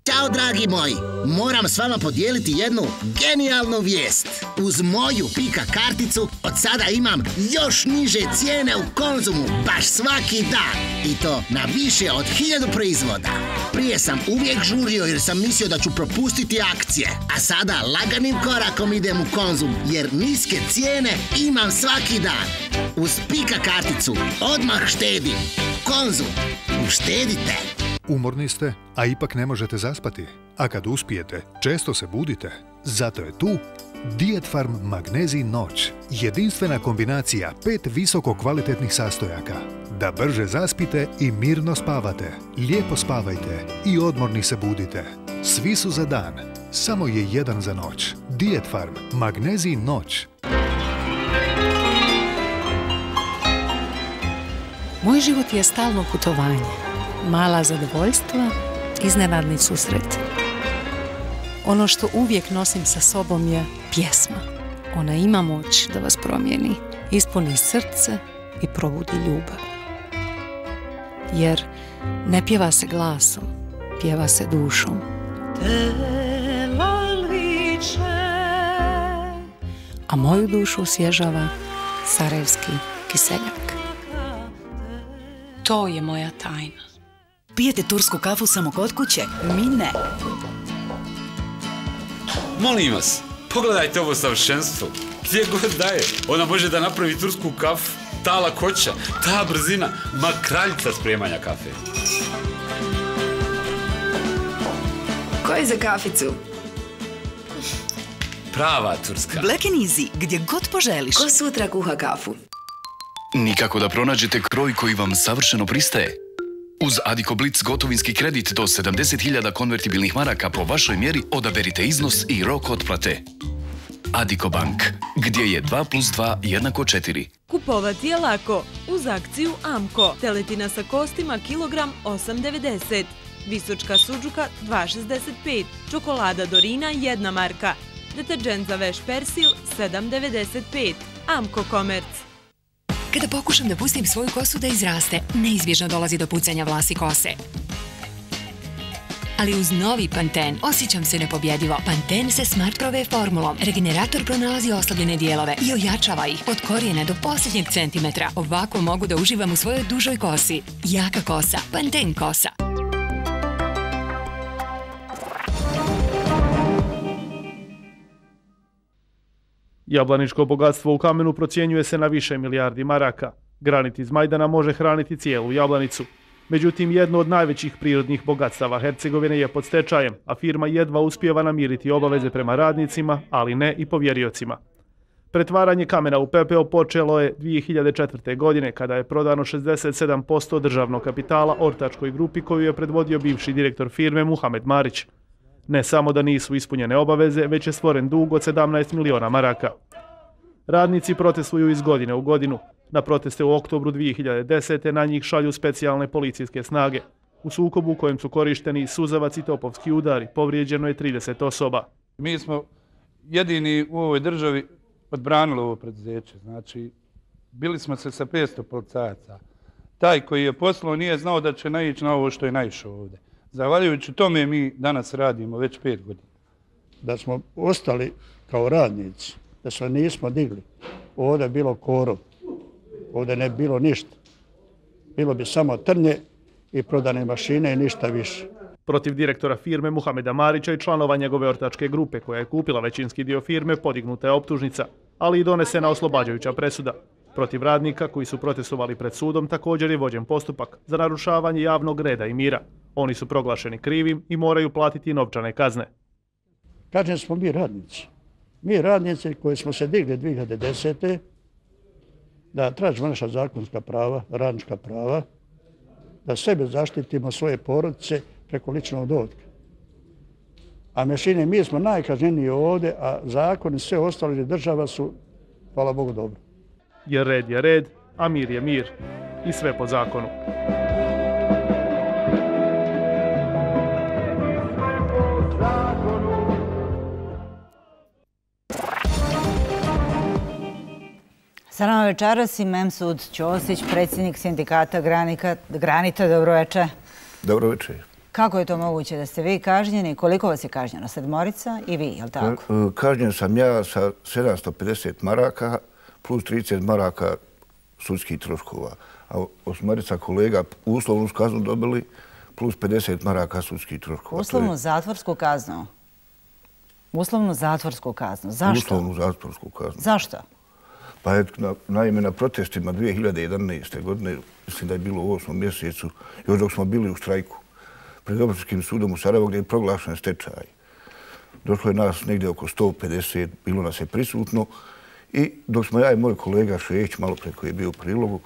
Ćao, dragi moji! Moram s vama podijeliti jednu genijalnu vijest. Uz moju Pika karticu od sada imam još niže cijene u Konzumu baš svaki dan. I to na više od hiljadu proizvoda. Prije sam uvijek žurio jer sam mislio da ću propustiti akcije. A sada laganim korakom idem u Konzum jer niske cijene imam svaki dan. Uz Pika karticu odmah štedim. Konzum. Uštedite. Umorni ste, a ipak ne možete zaspati. A kad uspijete, često se budite. Zato je tu Dietfarm Magnezij Noć. Jedinstvena kombinacija pet visoko kvalitetnih sastojaka. Da brže zaspite i mirno spavate. Lijepo spavajte i odmorni se budite. Svi su za dan, samo je jedan za noć. Dietfarm Magnezij Noć. Moj život je stalno putovanje. Mala zadovoljstva, iznenadni susret. Ono što uvijek nosim sa sobom je pjesma. Ona ima moć da vas promijeni, ispuni srce i probudi ljubav. Jer ne pjeva se glasom, pjeva se dušom. A moju dušu osvježava sarajevski kiseljak. To je moja tajna. Pijete tursku kafu samo kod kuće? Mi ne. Molim vas, pogledajte ovo savršenstvo. Gdje god daje, ona može da napravi tursku kafu. Ta lakoća, ta brzina, ma kraljica spremanja kafe. Ko je za kaficu? Prava turska. Black and Easy, gdje god poželiš. Ko sutra kuha kafu? Nikako da pronađete kroj koji vam savršeno pristaje. Uz Adiko Blitz gotovinski kredit do sedamdeset hiljada konvertibilnih maraka po vašoj mjeri odaberite iznos i rok otplate. Adiko Bank, gdje je dva plus dva jednako četiri. Kupovati je lako. Uz akciju Amko. Teletina sa kostima kilogram osam devedeset. Visočka suđuka dva šezdeset pet. Čokolada Dorina jedna marka. Deterđent za veš persil sedam devedeset pet. Amko Komerc. Kada pokušam da pustim svoju kosu da izraste, neizbježno dolazi do pucanja vlasi kose. Ali uz novi Panten osjećam se nepobjedivo. Panten sa Smart Prove formulom. Regenerator pronalazi oslabljene dijelove i ojačava ih od korijena do posljednjeg centimetra. Ovako mogu da uživam u svojoj dužoj kosi. Jaka kosa. Panten kosa. Jablaničko bogatstvo u kamenu procjenjuje se na više milijardi maraka. Granit iz Majdana može hraniti cijelu Jablanicu. Međutim, jedno od najvećih prirodnih bogatstava Hercegovine je pod stečajem, a firma jedva uspijeva namiriti obaveze prema radnicima, ali ne i povjeriocima. Pretvaranje kamena u pepeo počelo je dvije hiljade četvrte. godine, kada je prodano šezdeset sedam posto državnog kapitala ortačkoj grupi koju je predvodio bivši direktor firme Muhamed Marić. Ne samo da nisu ispunjene obaveze, već je stvoren dug od sedamnaest miliona maraka. Radnici protestuju iz godine u godinu. Na proteste u oktobru dvije hiljade desete. na njih šalju specijalne policijske snage. U sukobu u kojem su korišteni suzavac i topovski udari povrijeđeno je trideset osoba. Mi smo jedini u ovoj državi odbranili ovo preduzeće. Znači, bili smo se sa petsto policajaca. Taj koji je poslao nije znao da će naići na ovo što je naišao ovdje. Zahvaljujući tome mi danas radimo već pet godina. Da smo ostali kao radnici, da se nismo digli, ovdje je bilo korov, ovdje ne bilo ništa. Bilo bi samo trnje i prodane mašine i ništa više. Protiv direktora firme Muhameda Marića i članova njegove ortačke grupe koja je kupila većinski dio firme podignuta je optužnica, ali i donesena oslobađajuća presuda. Protiv radnika koji su protestovali pred sudom također je vođen postupak za narušavanje javnog reda i mira. Oni su proglašeni krivim i moraju platiti novčane kazne. Kažem smo mi radnici. Mi radnici koji smo se digli dvije hiljade desete da tražimo naša zakonska prava, radnička prava, da sebe zaštitimo, svoje porodice preko ličnog dohotka. A mešine, mi smo najkažnjeniji ovdje, a zakoni sve ostali država su, hvala Bogu, dobro. Jer red je red, a mir je mir. I sve po zakonu. Sa nama večeras i Memsud Ćosić, predsjednik sindikata Granita. Dobro večer. Dobro večer. Kako je to moguće da ste vi kažnjeni? Koliko vas je kažnjeno? Sedmorica i vi, je li tako? Kažnjen sam ja sa sedamsto pedeset maraka plus trideset maraka sudskih troškova. A osmorica kolega uslovnu kaznu dobili plus pedeset maraka sudskih troškova. Uslovnu zatvorsku kaznu? Uslovnu zatvorsku kaznu. Zašto? Uslovnu zatvorsku kaznu. Zašto? Pa je, naime, na protestima dvije hiljade jedanaeste. godine, mislim da je bilo u osmom mjesecu, još dok smo bili u štrajku, pred Općinskim sudom u Sarajevu gdje je proglašen stečaj. Došlo je nas negdje oko sto pedeset, bilo nas je prisutno i dok smo ja i moj kolega Šejić, malo pre koji je bio u prilogu,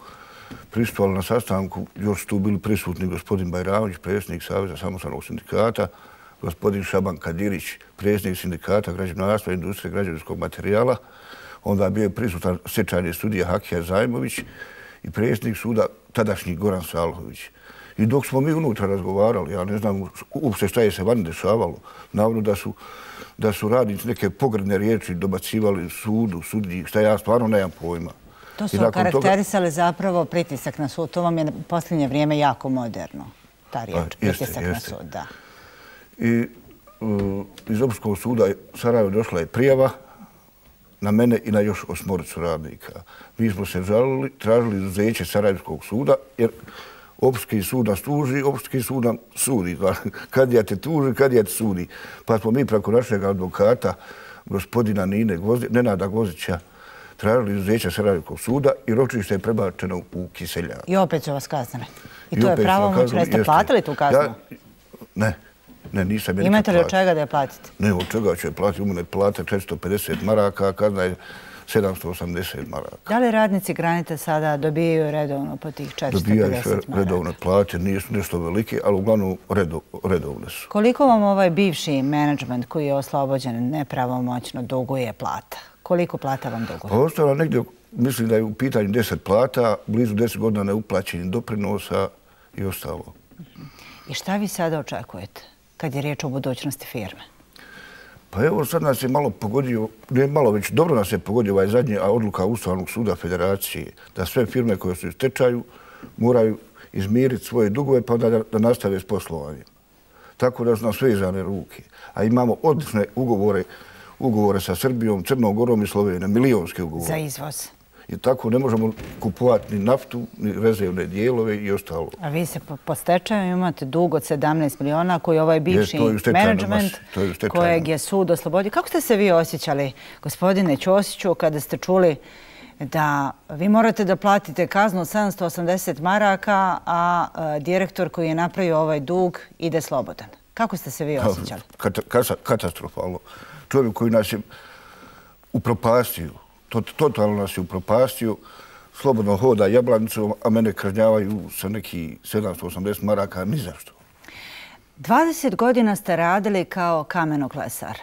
prisustvovali na sastanku, još su tu bili prisutni gospodin Bajramović, predsjednik Saveza samostalnog sindikata, gospodin Šaban Kadirić, predsjednik sindikata građevinarstva i industrije građevinskog materijala, onda je bio prisutan stečajni sudija Hakija Zajmović i predsjednik suda tadašnji Goran Salhović. I dok smo mi unutra razgovarali, ja ne znam uopšte šta je se vani dešavalo, navodno da su, da su radnici neke pogrdne riječi dobacivali sudu, sudiji, šta ja stvarno nemam pojma. To su karakterisali zapravo pritisak na sud. To vam je u posljednje vrijeme jako moderno, ta riječ, pritisak na sud, da. I iz Općinskog suda Sarajevo došla je prijava na mene i na još osmoricu radnika. Mi smo se žalili, tražili izuzeće Sarajevskog suda, jer Općinski sud nas tuži, Općinski sud nam sudi. Kad ja te tuži, kad ja te sudi. Pa smo mi preko našeg advokata, gospodina Nine Gvozdi, Nenada Gvozića, tražili izuzeće Sarajevskog suda i ročište je prebačeno u Kiseljak. I opet su vas kaznili. I to je pravomoćno. Jeste platili tu kaznu? Ne. Ne, nisam je nikad platiti. Imate li od čega da je platite? Ne, od čega ću je platiti. U mene plate četiristo pedeset maraka, a kazna je sedamsto osamdeset maraka. Da li radnici Granite sada dobijaju redovno po tih četiristo pedeset maraka? Dobijaju redovne plate, nisu nešto velike, ali uglavnom redovne su. Koliko vam ovaj bivši menadžment koji je oslobođen nepravomoćno duguje plata? Koliko plata vam duguje? Pa ostalo negdje, mislim da je u pitanju deset plata, blizu deset godina neuplaćenih doprinosa i ostalo. I šta vi sada očekujete kad je riječ o budućnosti firme? Pa evo sad nas je malo pogodio, ne malo već, dobro nas je pogodio ovaj zadnji odluka Ustavnog suda Federacije da sve firme koje su u stečaju moraju izmiriti svoje dugove pa onda da nastave s poslovanjem. Tako da su nam sve izane ruke. A imamo odlične ugovore, ugovore sa Srbijom, Crnom Gorom i Slovenijom, milijonske ugovore. Za izvoz. I tako ne možemo kupovati ni naftu, ni rezervne dijelove i ostalo. A vi se po stečaju imate dug od sedamnaest miliona koji je ovaj bivši menadžment kojeg je sud oslobodio. Kako ste se vi osjećali, gospodine Ćosiću, kada ste čuli da vi morate da platite kaznu od sedamsto osamdeset maraka, a direktor koji je napravio ovaj dug ide slobodan? Kako ste se vi osjećali? Katastrofalno. Čovjek koji nas je upropastio, totalno nas je upropastio, slobodno hoda Jablanicom, a mene kažnjavaju sa neki sedamsto osamdeset maraka, ni zašto. dvadeset godina ste radili kao kamenoklesar.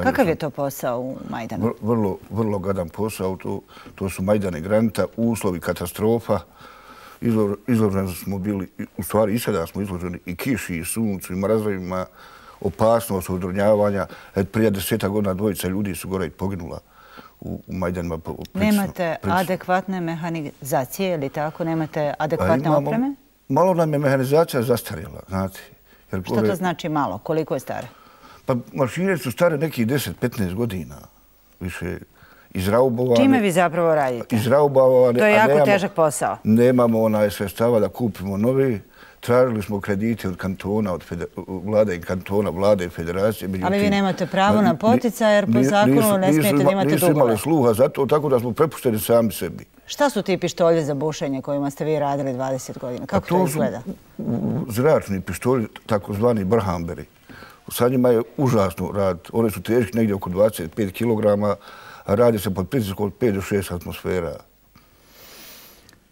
Kakav je to posao u Majdanu? Vrlo, vrlo gadan posao. To, to su Majdane Granita, uslovi katastrofa. Izloženi smo bili, u stvari i sada smo izloženi i kiši, i suncu, i mrazovima, opasnost odronjavanja. Prije deseta godina dvojica ljudi su gore i poginula u Majdanima. Nemate adekvatne mehanizacije ili tako? Nemate adekvatne opreme? Malo nam je mehanizacija zastarjela, znate. Što to znači malo? Koliko je stare? Pa mašine su stare nekih deset do petnaest godina. Više. izraubovane. Čime vi zapravo radite? Izraubovane. To je jako težak posao. Nemamo onaj sredstava da kupimo novi. Tražili smo kredite od kantona, od vlade i kantona, vlade i federacije. Ali vi nemate pravo na poticaj jer po zakonu ne smijete da imate dugove. Nisu imali sluha za to, tako da smo prepušteni sami sebi. Šta su ti pištolji za bušenje kojima ste vi radili dvadeset godina? Kako to izgleda? Zračni pištolji, takozvani brhamberi. Sa njima je užasno rad. One su teški negdje oko dvadeset pet kilograma, a radi se pod pritiskom od pet do šest atmosfera.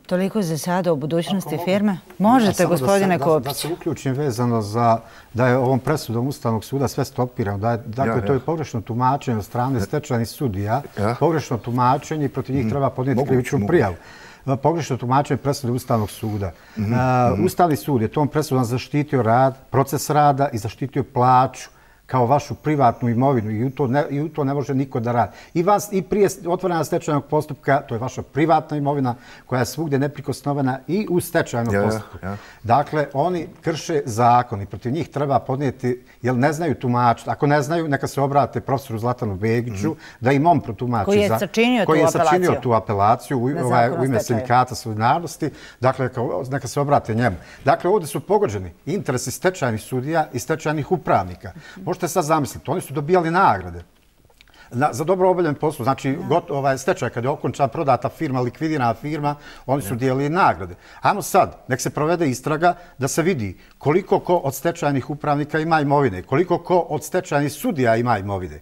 Toliko za sada o budućnosti firme? Možete, gospodine Kopić. Da se uključim vezano za da je ovom presudom Ustavnog suda sve stopirano. Dakle, to je pogrešno tumačenje od strane stečajnih sudija. Pogrešno tumačenje i protiv njih treba podnijeti krivičnu prijavu. Pogrešno tumačenje presude Ustavnog suda. Ustavni sud je tom presudom zaštitio rad, proces rada i zaštitio plaću kao vašu privatnu imovinu i u to ne, i u to ne može niko da radi. I, vas, i prije otvorena stečajnog postupka, to je vaša privatna imovina koja je svugdje neprikosnovena i u stečajnom ja, postupku. Ja. Dakle, oni krše zakon i protiv njih treba podnijeti, jer ne znaju tumačiti. Ako ne znaju, neka se obrate profesoru Zlatanu Begiću, mm. da im on protumači. Koji je sačinio, koji tu, je apelaciju. sačinio tu apelaciju u, ovaj, u ime sindikata solidarnosti. Dakle, neka se obrate njemu. Dakle, ovdje su pogođeni interesi stečajnih sudija i stečajnih upravnika. Možete sad zamisliti, oni su dobijali nagrade na, za dobro obavljen posao. Znači, got, ovaj, stečaj kad je okončan, prodata firma, likvidirana firma, oni su dijelili nagrade. Ajmo sad, nek se provede istraga da se vidi koliko ko od stečajnih upravnika ima imovine, koliko ko od stečajnih sudija ima imovine.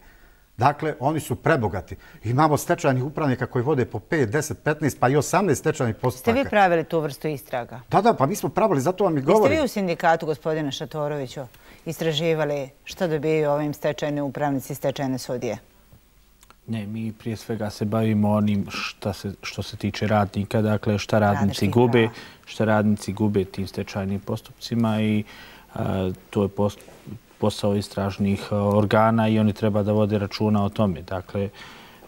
Dakle, oni su prebogati. Imamo stečajnih upravnika koji vode po pet, deset, petnaest, pa i osamnaest stečajnih postupaka. Ste vi pravili tu vrstu istraga? Da, da, pa mi smo pravili, zato vam i govorim. Jeste vi u sindikatu, gospodine Šatoroviću, istraživali šta dobijaju ovim stečajni upravnici i stečajne sudije? Ne, mi prije svega se bavimo onim šta se, što se tiče radnika, dakle šta radnici gube, šta radnici gube tim stečajnim postupcima i a, to je post, posao istražnih organa i oni treba da vode računa o tome. Dakle,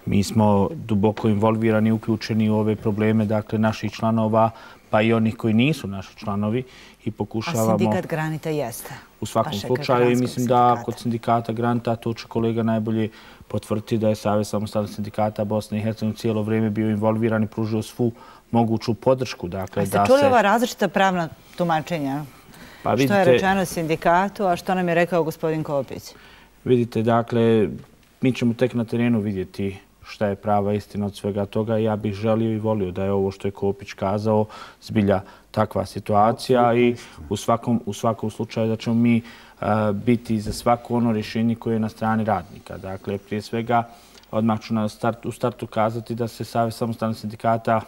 mi smo duboko involvirani, uključeni u ove probleme, dakle, naših članova, pa i onih koji nisu naši članovi i pokušavamo... A sindikat Granita jeste? U svakom slučaju i mislim da kod sindikata Granita, to će kolega najbolje potvrditi da je Savez samostalnih sindikata Bosne i Hercegovine cijelo vrijeme bio involviran i pružio svu moguću podršku. Dakle, a ste čuli ova različita pravna tumačenja? Pa vidite, što je rečeno sindikatu, a što nam je rekao gospodin Kopić? Vidite, dakle, mi ćemo tek na terenu vidjeti šta je prava istina od svega toga. Ja bih želio i volio da je ovo što je Kopić kazao zbilja takva situacija i u svakom, u svakom slučaju da ćemo mi uh, biti za svako ono rješenje koje je na strani radnika. Dakle, prije svega, odmah ću na start, u startu kazati da se Savez samostalnih sindikata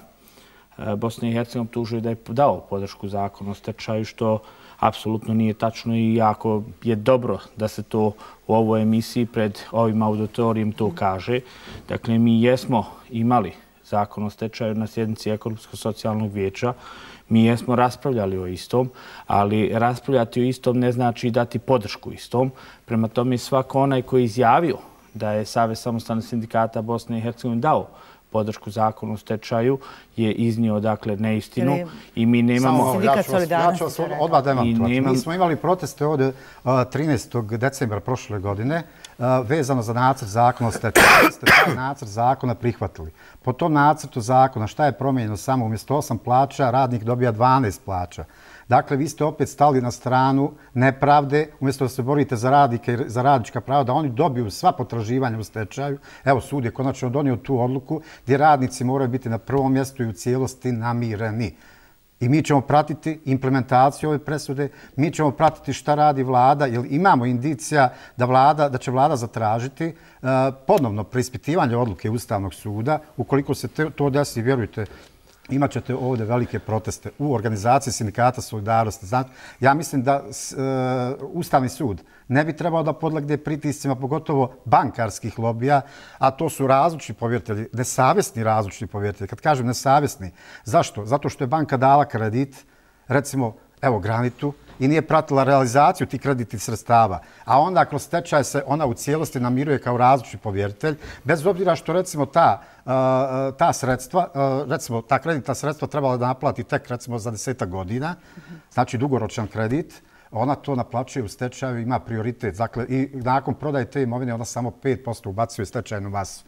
uh, Bosne i Hercegovine optužuje da je dao podršku zakonu o stečaju, što apsolutno nije tačno i jako je dobro da se to u ovoj emisiji pred ovim auditorijem to kaže. Dakle, mi jesmo imali zakon o stečaju na sjednici Ekonomsko-socijalnog vijeća. Mi jesmo raspravljali o istom, ali raspravljati o istom ne znači dati podršku istom. Prema tome, svako onaj koji je izjavio da je Savez samostalnih sindikata Bosne i Hercegovine dao podršku zakonu o stečaju je iznio, dakle, neistinu i mi nemamo... Samo, ja ću vas, ja ću vas odmah demantovati. Nemam... Mi smo imali proteste ovdje trinaestog decembra prošle godine vezano za nacrt zakona o stečaju. Vi ste taj nacrt zakona prihvatili. Po tom nacrtu zakona šta je promijenjeno? Samo umjesto osam plaća radnik dobija dvanaest plaća. Dakle, vi ste opet stali na stranu nepravde, umjesto da se borite za radnike i za radnička prava, da oni dobiju sva potraživanja u stečaju. Evo, sud je konačno donio tu odluku gdje radnici moraju biti na prvom mjestu i u cijelosti namireni. I mi ćemo pratiti implementaciju ove presude, mi ćemo pratiti šta radi vlada, jer imamo indicija da, vlada, da će vlada zatražiti uh, ponovno preispitivanje odluke Ustavnog suda. Ukoliko se te, to desi, vjerujte, imat ćete ovdje velike proteste u organizaciji sindikata solidarnosti. Znači, ja mislim da uh, Ustavni sud ne bi trebao da podlegne pritiscima, pogotovo bankarskih lobija, a to su različni povjeritelji, nesavjesni različni povjeritelji. Kad kažem nesavjesni, zašto? Zato što je banka dala kredit, recimo, evo, Granitu, i nije pratila realizaciju tih kreditnih sredstava. A onda kroz stečaj se ona u cijelosti namiruje kao različni povjeritelj, bez obzira što recimo ta, uh, ta sredstva, uh, recimo ta kreditna sredstva trebala da naplati tek recimo za desetak godina, znači dugoročan kredit. ona to naplaćuje u stečaju, ima prioritet. Dakle, i nakon prodaje te imovine ona samo pet posto ubacuje stečajnu masu.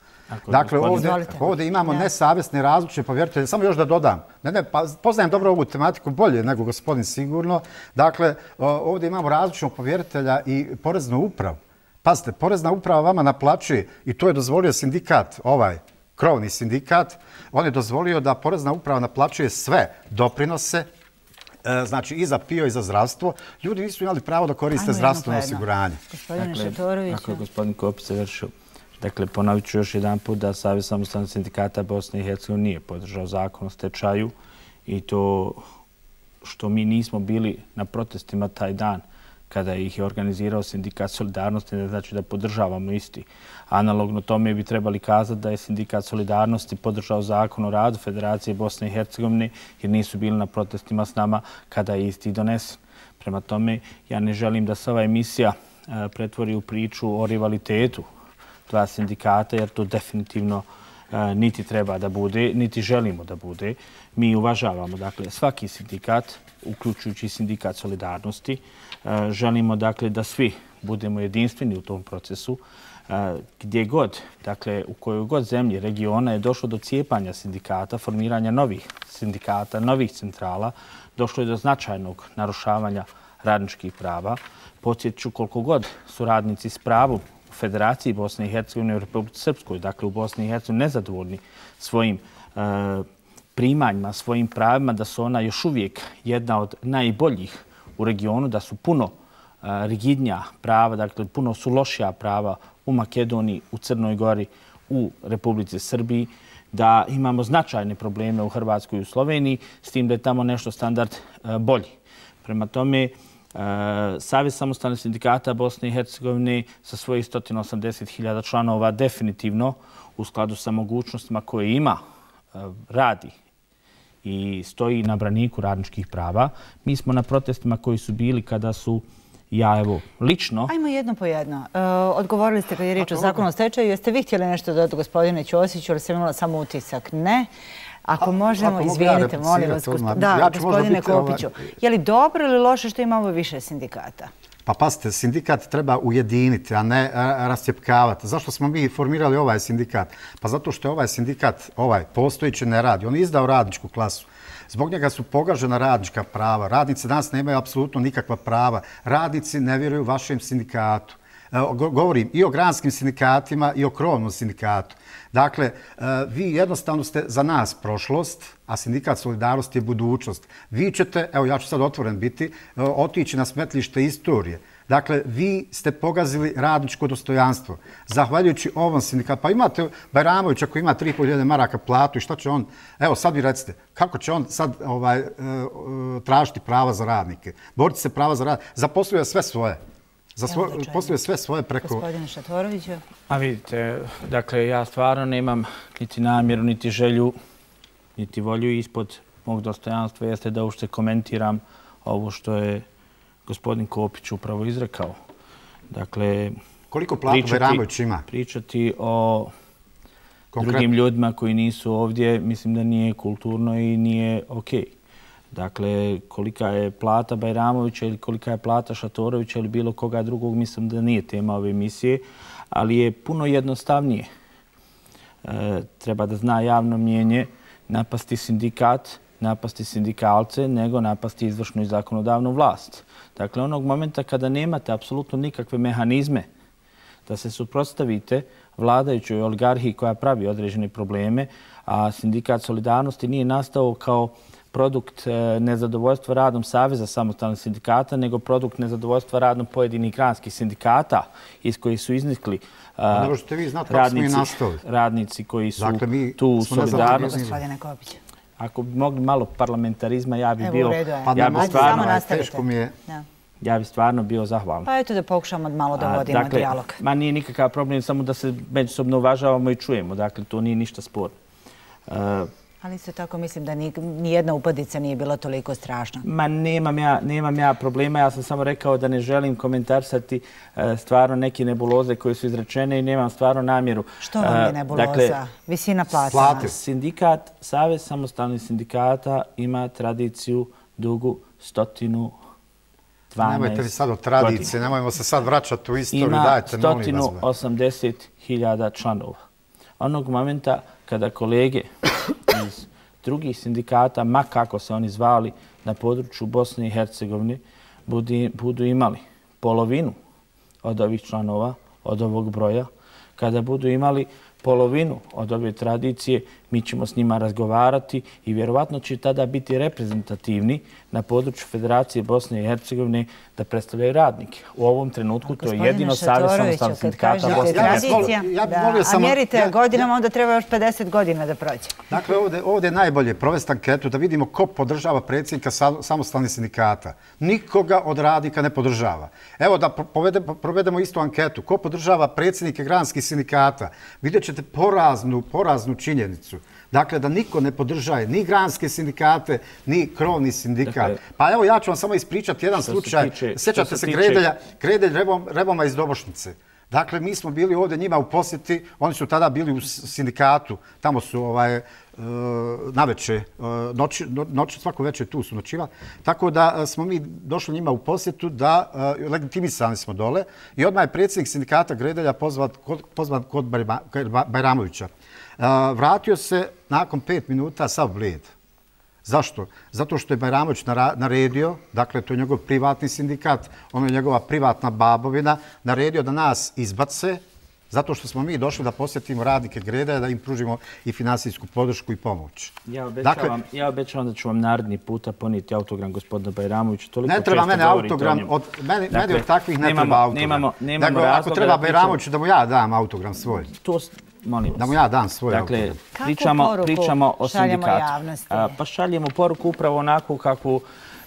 Dakle, ovdje imamo nesavjesne različite povjeritelje. Samo još da dodam. Ne, ne, pa poznajem dobro ovu tematiku bolje nego gospodin sigurno. Dakle, ovdje imamo različitog povjeritelja i poreznu upravu. Pazite, porezna uprava vama naplaćuje i to je dozvolio sindikat, ovaj krovni sindikat, on je dozvolio da porezna uprava naplaćuje sve doprinose, znači i za P I O i za zdravstvo. Ljudi nisu imali pravo da koriste zdravstveno osiguranje. Gospodine Šatoroviću. Ako je gospodin Kopić završio. Dakle, ponovit ću još jedan put da Savez samostalnih sindikata Bosne i Hercegovine nije podržao zakon o stečaju i to što mi nismo bili na protestima taj dan kada ih je organizirao Sindikat Solidarnosti, ne znači da podržavamo isti. Analogno tome bi trebali kazati da je Sindikat Solidarnosti podržao zakon o radu Federacije Bosne i Hercegovine jer nisu bili na protestima s nama kada je isti donesen. Prema tome, ja ne želim da se ova emisija pretvori u priču o rivalitetu dva sindikata, jer to definitivno niti treba da bude, niti želimo da bude. Mi uvažavamo dakle, svaki sindikat, uključujući sindikat Solidarnosti. Želimo dakle, da svi budemo jedinstveni u tom procesu. Gdje god, dakle, u kojoj god zemlji regiona je došlo do cijepanja sindikata, formiranja novih sindikata, novih centrala, došlo je do značajnog narušavanja radničkih prava. Podsjeću koliko god su radnici s pravom u Federaciji Bosne i Hercegovine i u Republici Srpskoj, dakle u Bosni i Hercegovini, nezadovoljni svojim e, primanjima, svojim pravima, da su ona još uvijek jedna od najboljih u regionu, da su puno e, rigidnija prava, dakle puno su lošija prava u Makedoniji, u Crnoj Gori, u Republici Srbiji, da imamo značajne probleme u Hrvatskoj i u Sloveniji, s tim da je tamo nešto standard e, bolji. Prema tome, Savez samostalnih sindikata Bosne i Hercegovine sa svojih sto osamdeset hiljada članova definitivno u skladu sa mogućnostima koje ima radi i stoji na braniku radničkih prava. Mi smo na protestima koji su bili kada su ja evo lično... Ajmo jedno po jedno. Odgovorili ste kad je riječ o zakonu o stečaju. Jeste vi htjeli nešto dodati gospodine Ćosiću ili sam imala samo utisak? Ne. Ako možemo, izvinite, molim vas. Da, gospodine Kopiću. Je li dobro ili loše što imamo više sindikata? Pa pazite, sindikat treba ujediniti, a ne rascjepkavati. Zašto smo mi formirali ovaj sindikat? Pa zato što je ovaj sindikat, ovaj postojići ne radi. On je izdao radničku klasu. Zbog njega su pogažena radnička prava. Radnici danas nemaju apsolutno nikakva prava. Radnici ne vjeruju vašem sindikatu. Govorim i o granskim sindikatima i o krovnom sindikatu. Dakle, vi jednostavno ste za nas prošlost, a sindikat Solidarnosti je budućnost. Vi ćete, evo ja ću sad otvoren biti, otići na smetlište istorije. Dakle, vi ste pogazili radničko dostojanstvo. Zahvaljujući ovom sindikatu, pa imate Bajramović ako ima tri i pol hiljade maraka platu i šta će on, evo sad vi recite, kako će on sad ovaj, tražiti prava za radnike? Boriti se prava za radnike, zaposluje sve svoje. Posluje sve svoje preko... Gospodine Šatoroviću. A vidite, dakle, ja stvarno nemam niti namjeru, niti želju, niti volju ispod mog dostojanstva jeste da uopšte komentiram ovo što je gospodin Kopić upravo izrekao. Dakle, koliko platu Bajramović ima? Pričati o drugim ljudima koji nisu ovdje, mislim da nije kulturno i nije okej. Dakle, kolika je plata Bajramovića ili kolika je plata Šatorovića ili bilo koga drugog, mislim da nije tema ove emisije, ali je puno jednostavnije. E, treba da zna javno mnjenje napasti sindikat, napasti sindikalce, nego napasti izvršnu i zakonodavnu vlast. Dakle, onog momenta kada nemate apsolutno nikakve mehanizme da se suprotstavite vladajućoj oligarhiji koja pravi određene probleme, a sindikat Solidarnosti nije nastao kao produkt nezadovoljstva radom Saveza samostalnih sindikata, nego produkt nezadovoljstva radom pojedinih granskih sindikata iz kojih su iznikli radnici koji su tu u solidarnosti. Ako bi mogli malo parlamentarizma, ja bi bio... Ja bi stvarno... Ja bi stvarno bio zahvalan. Pa eto da pokušamo malo da vodimo dijalog. Ma nije nikakav problem, samo da se međusobno uvažavamo i čujemo. Dakle, to nije ništa sporno. Ali isto tako mislim da nijedna upadica nije bila toliko strašna. Ma nemam ja, nemam ja problema. Ja sam samo rekao da ne želim komentarsati stvarno neke nebuloze koje su izrečene i nemam stvarno namjeru. Što vam je nebuloza? Dakle, visina plata. Sindikat, Savez samostalnih sindikata ima tradiciju dugu stotinu dvanaest godina. Nemojte mi sad o tradicije, nemojmo se sad vraćati u istoriju, dajte, molim vas. Ima sto osamdeset hiljada članova. Onog momenta kada kolege iz drugih sindikata, ma kako se oni zvali, na području Bosne i Hercegovine, budu imali polovinu od ovih članova, od ovog broja, kada budu imali polovinu od ove tradicije, mi ćemo s njima razgovarati i vjerovatno će tada biti reprezentativni na području Federacije Bosne i Hercegovine da predstavljaju radnike. U ovom trenutku to je jedino Savez samostalnih sindikata Bosne i Hercegovine. A mjerite godinama, onda treba još pedeset godina da prođe. Dakle, ovdje je najbolje provesti anketu da vidimo ko podržava predsjednika samostalnih sindikata. Nikoga od radnika ne podržava. Evo da provedemo istu anketu. Ko podržava predsjednike granskih sindikata? Vidjet ćete poraznu, poraznu činjenicu. Dakle, da niko ne podržaje ni granske sindikate, ni krovni sindikat. Pa evo, ja ću vam samo ispričati jedan slučaj. Sjećate se Gredelj Reboma iz Dobošnice. Dakle, mi smo bili ovdje njima u posjeti, oni su tada bili u sindikatu, tamo su naveče, svako večer tu su noćivali. Tako da smo mi došli njima u posjetu, da legitimisani smo dole i odmah je predsjednik sindikata Gredelja pozvan kod Bajramovića. Vratio se nakon pet minuta sav bled. Zašto? Zato što je Bajramović naredio, dakle to je njegov privatni sindikat, ono je njegova privatna babovina, naredio da nas izbace, zato što smo mi došli da posjetimo radnike Gredelja, da im pružimo i finansijsku podršku i pomoć. Ja obećavam da ću vam naredni puta ponijeti autogram gospodina Bajramovića. Ne treba mene autogram, meni od takvih ne treba autogram. Ako treba Bajramoviću da mu ja dam autogram svoj. Da mu ja dam svoj autogram. Dakle, pričamo o sindikatu. Pa šaljemo poruku upravo onako kako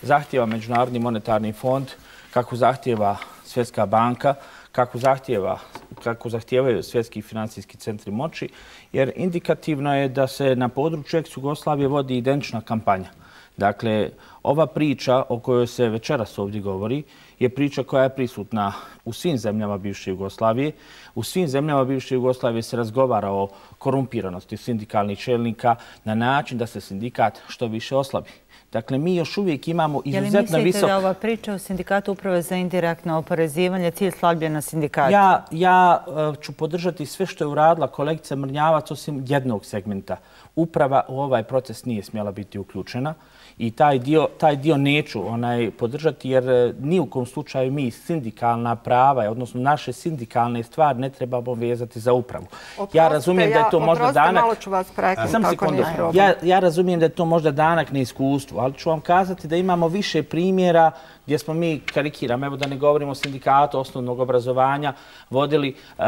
zahtjeva Međunarodni monetarni fond, kako zahtjeva Svjetska banka, kako zahtjeva kako zahtijevaju svjetski financijski centri moći, jer indikativno je da se na području ex-Jugoslavije vodi identična kampanja. Dakle, ova priča o kojoj se večeras ovdje govori je priča koja je prisutna u svim zemljama bivše Jugoslavije. U svim zemljama bivše Jugoslavije se razgovara o korumpiranosti sindikalnih čelnika na način da se sindikat što više oslabi. Dakle, mi još uvijek imamo izuzetno visok... Je li mislite da ova priča o sindikatu uprave za indirektno oporezivanje cilj slabljena sindikata? Ja, ja ću podržati sve što je uradila kolegica Mrnjavac osim jednog segmenta. Uprava u ovaj proces nije smjela biti uključena i taj dio, taj dio neću onaj, podržati jer ni u kom slučaju mi sindikalna prava, odnosno naše sindikalne stvari ne trebamo vezati za upravu. Oprostite, ja razumijem da je to možda danak... malo ću vas preknuti, kako nije problem. Ja, ja razumijem da je to možda danak neiskustvu, ali ću vam kazati da imamo više primjera gdje smo mi, karikiram, evo da ne govorimo o sindikatu osnovnog obrazovanja, vodili uh,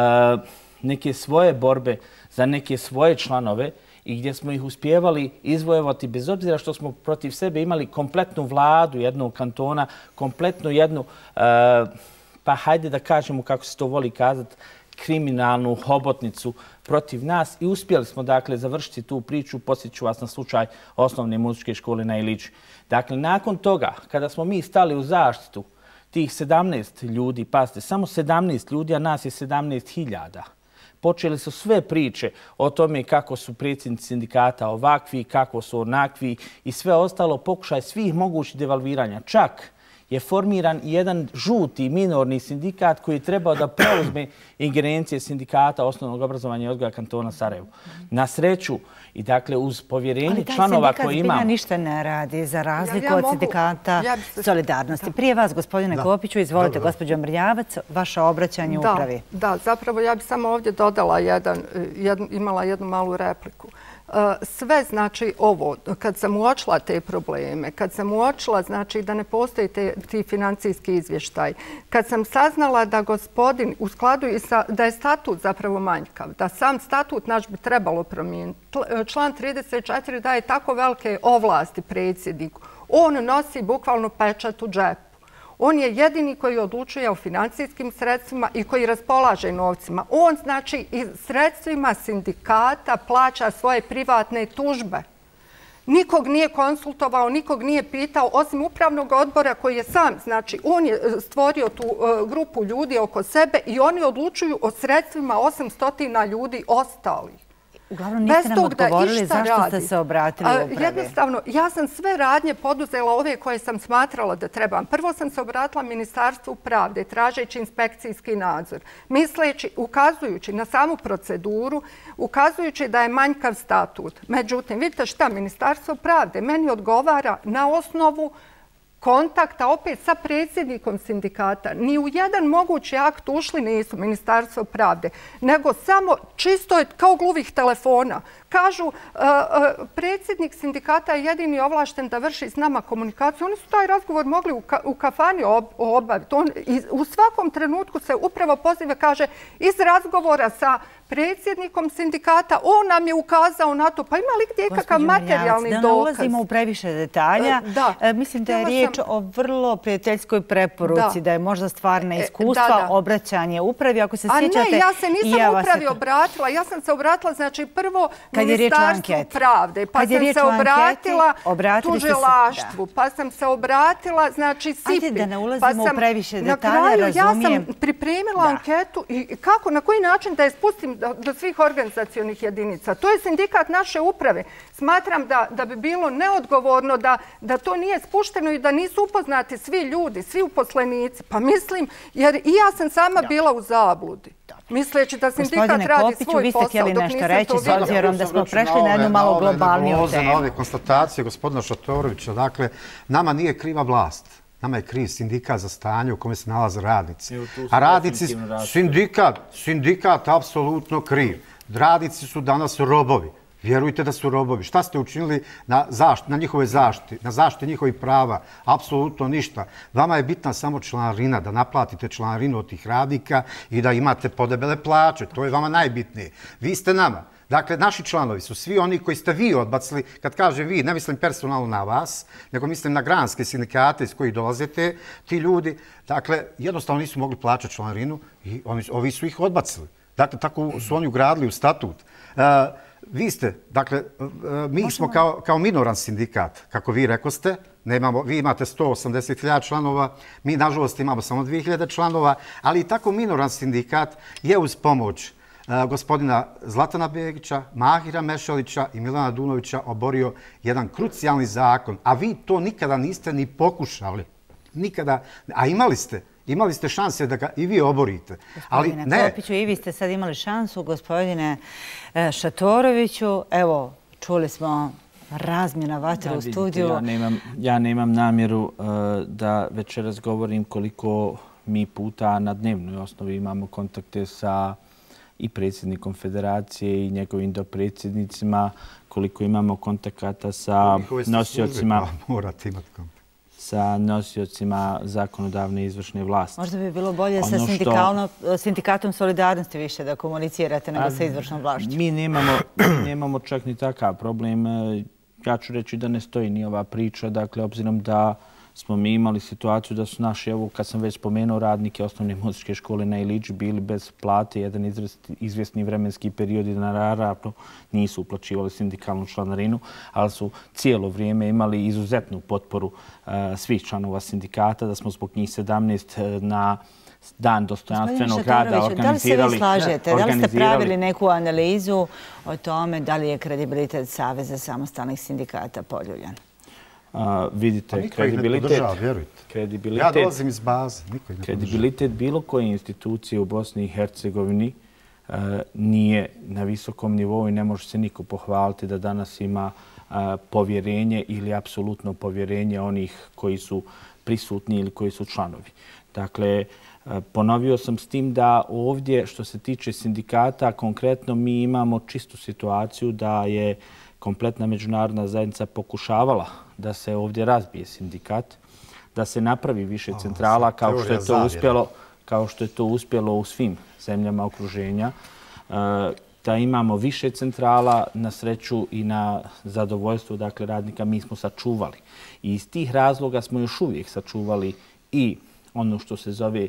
neke svoje borbe za neke svoje članove i gdje smo ih uspjevali izvojevati bez obzira što smo protiv sebe imali kompletnu vladu jednog kantona, kompletnu jednu, uh, pa hajde da kažemo kako se to voli kazati, kriminalnu hobotnicu protiv nas i uspjeli smo dakle završiti tu priču. Posjeću vas na slučaj osnovne muzičke škole na Ilići. Dakle, nakon toga, kada smo mi stali u zaštitu tih sedamnaest ljudi, pazite, samo sedamnaest ljudi, a nas je sedamnaest hiljada, počeli su sve priče o tome kako su predsjednici sindikata ovakvi, kako su onakvi i sve ostalo, pokušaj svih mogućih devalviranja. Čak je formiran jedan žuti minorni sindikat koji je trebao da preuzme ingerencije sindikata osnovnog obrazovanja i odgoja kantona Sarajevo. Na sreću i dakle uz povjerenje članova koji imamo... Ali taj sindikat ništa ne radi za razliku od sindikata Solidarnosti. Prije vas, gospodine Kopiću, izvolite, gospođo Mrnjavac, vaše obraćanje upravi. Da, zapravo ja bih samo ovdje dodala jedan, imala jednu malu repliku. Sve znači ovo, kad sam uočila te probleme, kad sam uočila znači da ne postoji te, ti financijski izvještaj, kad sam saznala da gospodin u skladu i sa, da je statut zapravo manjkav, da sam statut naš bi trebalo promijeniti. Član trideset četiri daje tako velike ovlasti predsjedniku. On nosi bukvalno pečat u džepu. On je jedini koji odlučuje o financijskim sredstvima i koji raspolaže novcima. On, znači, i sredstvima sindikata plaća svoje privatne tužbe. Nikog nije konsultovao, nikog nije pitao, osim upravnog odbora koji je sam, znači, on je stvorio tu grupu ljudi oko sebe i oni odlučuju o sredstvima osamsto ljudi ostalih. Uglavnom niste nam odgovorili zašto ste se obratili upravi. Jednostavno, ja sam sve radnje poduzela ove koje sam smatrala da trebam. Prvo sam se obratila Ministarstvu pravde, tražeći inspekcijski nadzor, misleći, ukazujući na samu proceduru, ukazujući da je manjkav statut. Međutim, vidite šta, Ministarstvo pravde meni odgovara na osnovu kontakta opet sa predsjednikom sindikata. Ni u jedan mogući akt ušli nisu Ministarstvo pravde, nego samo čisto je kao gluvih telefona. Kažu, predsjednik sindikata je jedini ovlašten da vrši s nama komunikaciju. Oni su taj razgovor mogli u kafani obaviti. U svakom trenutku se upravo poziva, kaže, iz razgovora sa predsjednikom sindikata, on nam je ukazao na to. Pa ima li gdje kakav materijalni dokaz? Da ne ulazimo u previše detalja. Mislim da je riječ o vrlo prijateljskoj preporuci, da je možda stvarna iskustva, obraćanje upravi. Ako se sjećate... A ne, ja se nisam upravi obratila. Ja sam se obratila, znači, prvo Ministarstvu pravde, pa sam se obratila tužilaštvu, pa sam se obratila, znači, S I P I. Ajde da ne ulazimo u previše detalja, razumijem. Na kraju ja sam pripremila anketu i kako, na koji način da je spustim do svih organizacionih jedinica. To je sindikat naše uprave. Smatram da bi bilo neodgovorno da to nije spušteno i da nisu upoznati svi ljudi, svi uposlenici. Pa mislim, jer i ja sam sama bila u zabludi. Misleći da sindikat radi svoj posao dok nisam to vidjela. Gospodine Kopiću, vi ste htjeli nešto reći s obzirom da smo prešli na jednu malo globalniju temu. Na ove konstatacije gospodina Šatorovića, dakle, nama nije kriva vlast. Nama je kriv sindikat za stanje u kome se nalaze radnici. A radnici, sindikat, sindikat apsolutno kriv. Radnici su danas robovi. Vjerujte da su robovi. Šta ste učinili na, zašt, na njihove zaštiti, na zaštiti njihovih prava? Apsolutno ništa. Vama je bitna samo članarina, da naplatite članarinu od tih radnika i da imate podebele plaće. To je vama najbitnije. Vi ste nama. Dakle, naši članovi su svi oni koji ste vi odbacili. Kad kažem vi, ne mislim personalno na vas, nego mislim na granske sindikate iz kojih dolazite, ti ljudi, dakle, jednostavno nisu mogli plaćati članarinu i oni, ovi su ih odbacili. Dakle, tako su oni ugradili u statut. Uh, Vi ste, dakle, mi smo kao, kao minoran sindikat, kako vi rekoste, nemamo, vi imate sto osamdeset hiljada članova, mi nažalost imamo samo dvije hiljade članova, ali i tako minoran sindikat je uz pomoć uh, gospodina Zlatana Begića, Mahira Mešalića i Milana Dunovića oborio jedan krucijalni zakon, a vi to nikada niste ni pokušali. Nikada, a imali ste. Imali ste šanse da ga i vi oborite. Gospodine Kopiću, i vi ste sad imali šansu, gospodine Šatoroviću. Evo, čuli smo razmjena vatra u studiju. Ja nemam namjeru da večeras govorim koliko mi puta na dnevnoj osnovi imamo kontakte sa i predsjednikom federacije i njegovim dopredsjednicima, koliko imamo kontakata sa nosiocima... Morate imati kontakt. sa nosiocima zakonodavne i izvršne vlasti. Možda bi bilo bolje sa sindikatom solidarnosti više da komunicirate nego sa izvršnom vlašću. Mi nemamo čak ni takav problem. Ja ću reći da ne stoji ni ova priča. Dakle, obzirom da smo mi imali situaciju da su naši, evo kad sam već spomenuo, radnike osnovne muzičke škole na Ilići bili bez plate jedan izvjesni vremenski period i naravno nisu uplaćivali sindikalnu članarinu, ali su cijelo vrijeme imali izuzetnu potporu svih članova sindikata, da smo zbog njih sedamnaest na dan dostojanstvenog rada organizirali... Da li se vi slažete? Da li ste pravili neku analizu o tome da li je kredibilitet Saveza samostalnih sindikata poljuljan? Vidite, kredibilitet... Ja dolazim iz baze. Kredibilitet bilo koje institucije u Bosni i Hercegovini nije na visokom nivou i ne može se niko pohvaliti da danas ima povjerenje ili apsolutno povjerenje onih koji su prisutni ili koji su članovi. Dakle, ponovio sam s tim da ovdje, što se tiče sindikata, konkretno mi imamo čistu situaciju da je kompletna međunarodna zajednica pokušavala da se ovdje razbije sindikat, da se napravi više centrala kao što je to uspjelo, kao što je to uspjelo u svim zemljama okruženja, da imamo više centrala na sreću i na zadovoljstvo dakle radnika mi smo sačuvali. I iz tih razloga smo još uvijek sačuvali i ono što se zove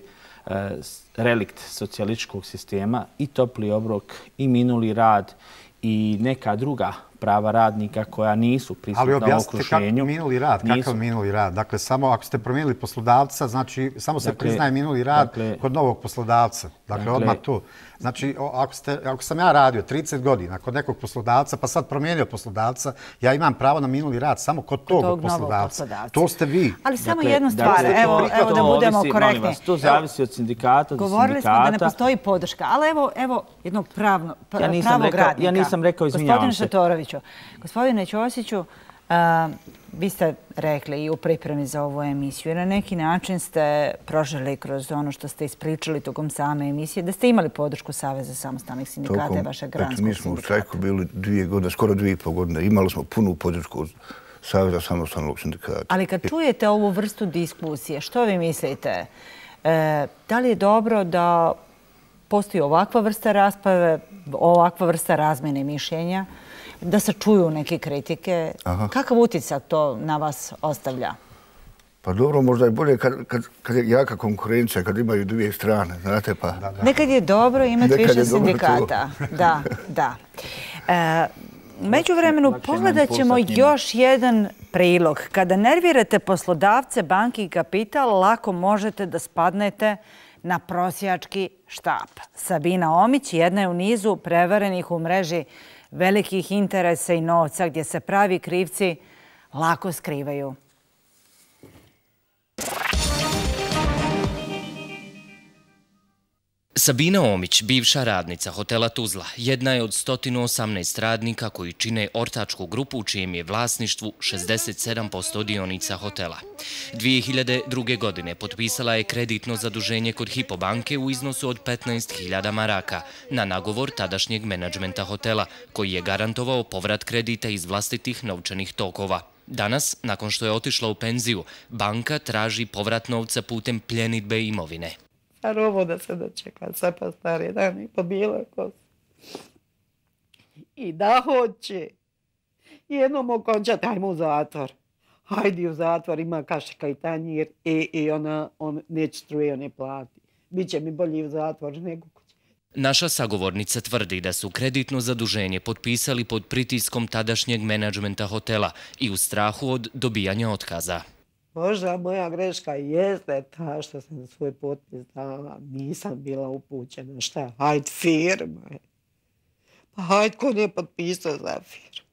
relikt socijalističkog sistema i topli obrok i minuli rad i neka druga prava radnika koja nisu prisutna u okruženju. Ali objasnite kako minuli rad, kakav minuli rad. Dakle, samo ako ste promijenili poslodavca, znači samo se priznaje minuli rad kod novog poslodavca. Dakle, odmah tu. Znači, ako sam ja radio trideset godina kod nekog poslodavca, pa sad promijenio poslodavca, ja imam pravo na minuli rad samo kod tog poslodavca. To ste vi. Ali samo jednu stvar, evo da budemo korektni. To zavisi od sindikata do sindikata. Govorili smo da ne postoji podrška, ali evo jednog pravog radnika. Ja nisam rekao, izvinjavam se. Gospodine Šatoroviću, gospodine Ćosiću, vi ste rekli i u pripremi za ovu emisiju, na neki način ste proželi kroz ono što ste ispričali tokom same emisije, da ste imali podršku Saveza samostalnih sindikata i vašeg granskog sindikata. Mi smo u štrajku bili dvije godine, skoro dvije i pol godine. Imali smo punu podršku od Saveza samostalnog sindikata. Ali kad čujete ovu vrstu diskusije, što vi mislite? Da li je dobro da postoji ovakva vrsta rasprave, ovakva vrsta razmjene mišljenja, da se čuju neke kritike? Kakav utisak to na vas ostavlja? Pa dobro, možda je bolje kad je jaka konkurencija, kad imaju dvije strane, znate pa... Nekad je dobro imati više sindikata. Da, da. Međuvremenu pogledat ćemo još jedan prilog. Kada nervirate poslodavce, banke i kapital, lako možete da spadnete na prosjački štap. Sabina Omić jedna je u nizu prevarenih u mreži velikih interesa i novca gdje se pravi krivci lako skrivaju. Sabina Omić, bivša radnica hotela Tuzla, jedna je od sto osamnaest radnika koji čine ortačku grupu u čijem je vlasništvu šezdeset sedam posto dionica hotela. dvije hiljade druge. godine potpisala je kreditno zaduženje kod Hypo banke u iznosu od petnaest hiljada maraka na nagovor tadašnjeg menadžmenta hotela, koji je garantovao povrat kredita iz vlastitih novčanih tokova. Danas, nakon što je otišla u penziju, banka traži povrat novca putem pljenidbe imovine. A ovo da se dočeka, sve pa stari dan i po bijele kosi. I da hoće. Jednom okončati, hajmo u zatvor. Hajdi u zatvor, ima kašika i tanjir i ona neće struje, ne plati. Biće mi bolji u zatvor nego kuće. Naša sagovornica tvrdi da su kreditno zaduženje potpisali pod pritiskom tadašnjeg menadžmenta hotela i u strahu od dobijanja otkaza. Možda moja greška jeste ta što sam svoj potpis dala. Nisam bila upućena. Šta? Hajde firma. Pa hajde ko nije potpisao za firmu.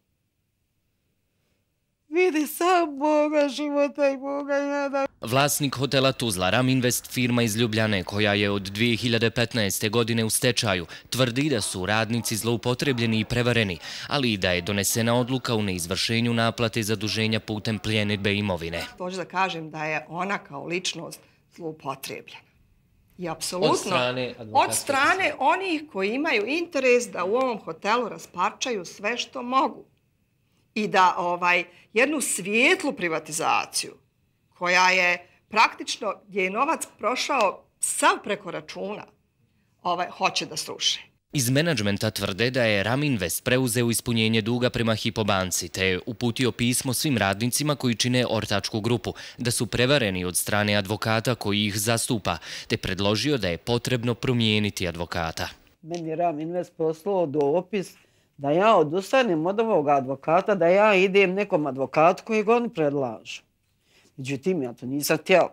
Vidi sam Boga života i Boga jada. Vlasnik hotela Tuzla, Raminvest, firma iz Ljubljane, koja je od dvije hiljade petnaeste. godine u stečaju, tvrdi da su radnici zloupotrebljeni i prevareni, ali i da je donesena odluka u neizvršenju naplate zaduženja putem pljenidbe imovine. Hoću da kažem da je ona kao ličnost zloupotrebljena. I apsolutno od strane onih koji imaju interes da u ovom hotelu rasparčaju sve što mogu. I da ovaj, jednu svijetlu privatizaciju koja je praktično, gdje je novac prošao sav preko računa, ovaj, hoće da sruše. Iz menadžmenta tvrde da je Raminvest preuzeo ispunjenje duga prema Hypo banci, te je uputio pismo svim radnicima koji čine ortačku grupu, da su prevareni od strane advokata koji ih zastupa, te predložio da je potrebno promijeniti advokata. Meni je Raminvest poslao dopis da ja odustanem od ovog advokata, da ja idem nekom advokatu kojeg oni predlažu. Međutim, ja to nisam htjela.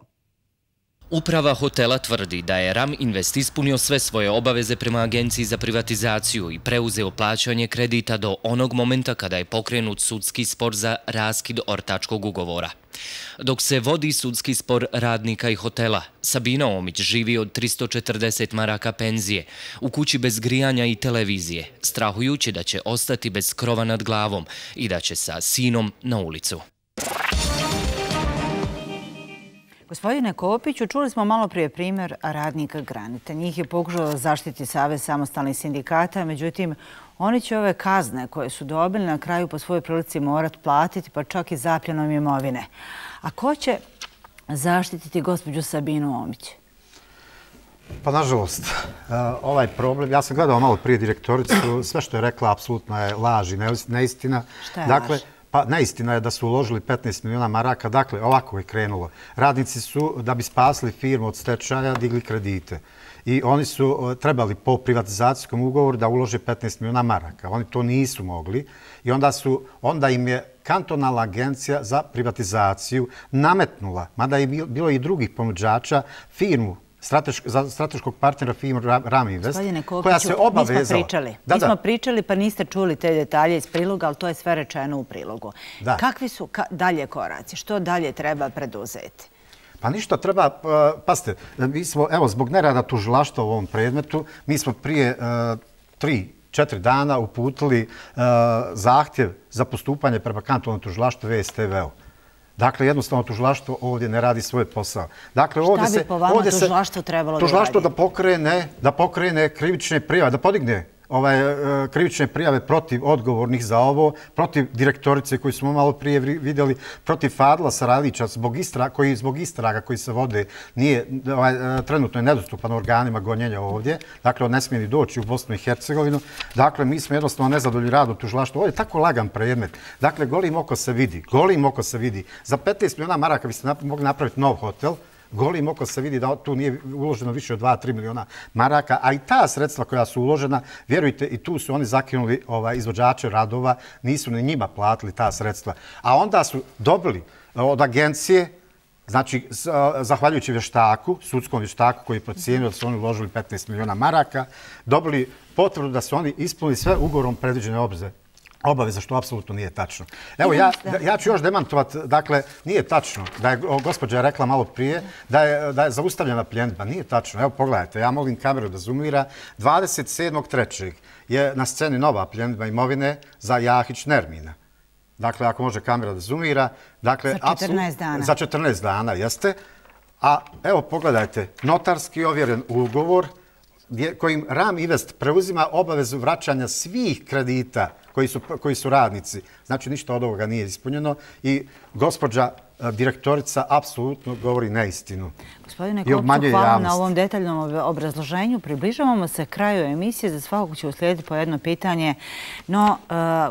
Uprava hotela tvrdi da je Raminvest ispunio sve svoje obaveze prema Agenciji za privatizaciju i preuzeo plaćanje kredita do onog momenta kada je pokrenut sudski spor za raskid ortačkog ugovora. Dok se vodi sudski spor radnika i hotela, Sabina Omić živi od tristo četrdeset maraka penzije, u kući bez grijanja i televizije, strahujući da će ostati bez krova nad glavom i da će sa sinom na ulicu. Gospodine Kopiću, čuli smo malo prije primjer radnika Granite. Njih je pokušao da zaštiti Savez samostalnih sindikata, međutim, oni će ove kazne koje su dobili na kraju po svojoj prilici morati platiti, pa čak i zapljenom imovine. A ko će zaštititi gospođu Sabinu Omić? Pa, nažalost, ovaj problem, ja sam gledao malo prije direktoricu, sve što je rekla apsolutno je laž i neistina. Šta je laž? Pa neistina je da su uložili petnaest miliona maraka. Dakle, ovako je krenulo. Radnici su, da bi spasili firmu od stečaja, digli kredite. i oni su trebali po privatizacijskom ugovoru da ulože petnaest miliona maraka. Oni to nisu mogli i onda, su, onda im je kantonalna agencija za privatizaciju nametnula, mada je bilo i drugih ponuđača, firmu za strateškog partnera firmu Ram Invest, koja se obavezala. Mi smo pričali. Mi smo pričali pa niste čuli te detalje iz priloga, ali to je sve rečeno u prilogu. Kakvi su dalje koraci? Što dalje treba preduzeti? Pa ništa, treba, pazite, mi smo, evo, zbog nerada tužilaštva u ovom predmetu, mi smo prije tri, četiri dana uputili zahtjev za postupanje prema kantonalnom tužilaštvu V S T V-u. Dakle, jednostavno tužilaštvo ovdje ne radi svoj posao. Dakle, šta bi po vama tužilaštvo trebalo da radi? Tužilaštvo da pokrene krivične prijave, da podigne krivične prijave protiv odgovornih za ovo, protiv direktorice koju smo malo prije vidjeli, protiv Fadla Sarajlića koji zbog istraga koji se vode trenutno je nedostupan organima gonjenja ovdje. Dakle, on ne smije ni doći u Bosnu i Hercegovinu. Dakle, mi smo jednostavno nezadovoljni radom tužilaštva. Ovo je tako lagan predmet. Dakle, golim oko se vidi. Golim oko se vidi. Za petnaest miliona maraka biste mogli napraviti nov hotel. Golim oko se vidi da tu nije uloženo više od dva do tri miliona maraka, a i ta sredstva koja su uložena, vjerujte, i tu su oni zakinuli izvođače radova, nisu ni njima platili ta sredstva. A onda su dobili od agencije, znači, zahvaljujući vještaku, sudskom vještaku koji je procijenio da su oni uložili petnaest miliona maraka, dobili potvrdu da su oni ispunili sve ugovorom predviđene obveze. Obaveza, što apsolutno nije tačno. Evo, ja ću još demantovati, dakle, nije tačno da je, gospođa je rekla malo prije, da je zaustavljena pljenidba. Nije tačno. Evo, pogledajte, ja molim kameru da zoomira. dvadeset sedmog trećeg je na sceni nova pljenidba imovine za Jahić Nermina. Dakle, ako može kamera da zoomira. Za četrnaest dana. Za četrnaest dana, jeste. A evo, pogledajte, notarski ovjeren ugovor kojim Ram Invest preuzima obavezu vraćanja svih kredita koji su radnici. Znači, ništa od ovoga nije ispunjeno i gospođa direktorica apsolutno govori neistinu. Gospodine Kopčuk, hvala na ovom detaljnom obrazloženju. Približavamo se kraju emisije. Za svakog će uslijediti po jedno pitanje. No,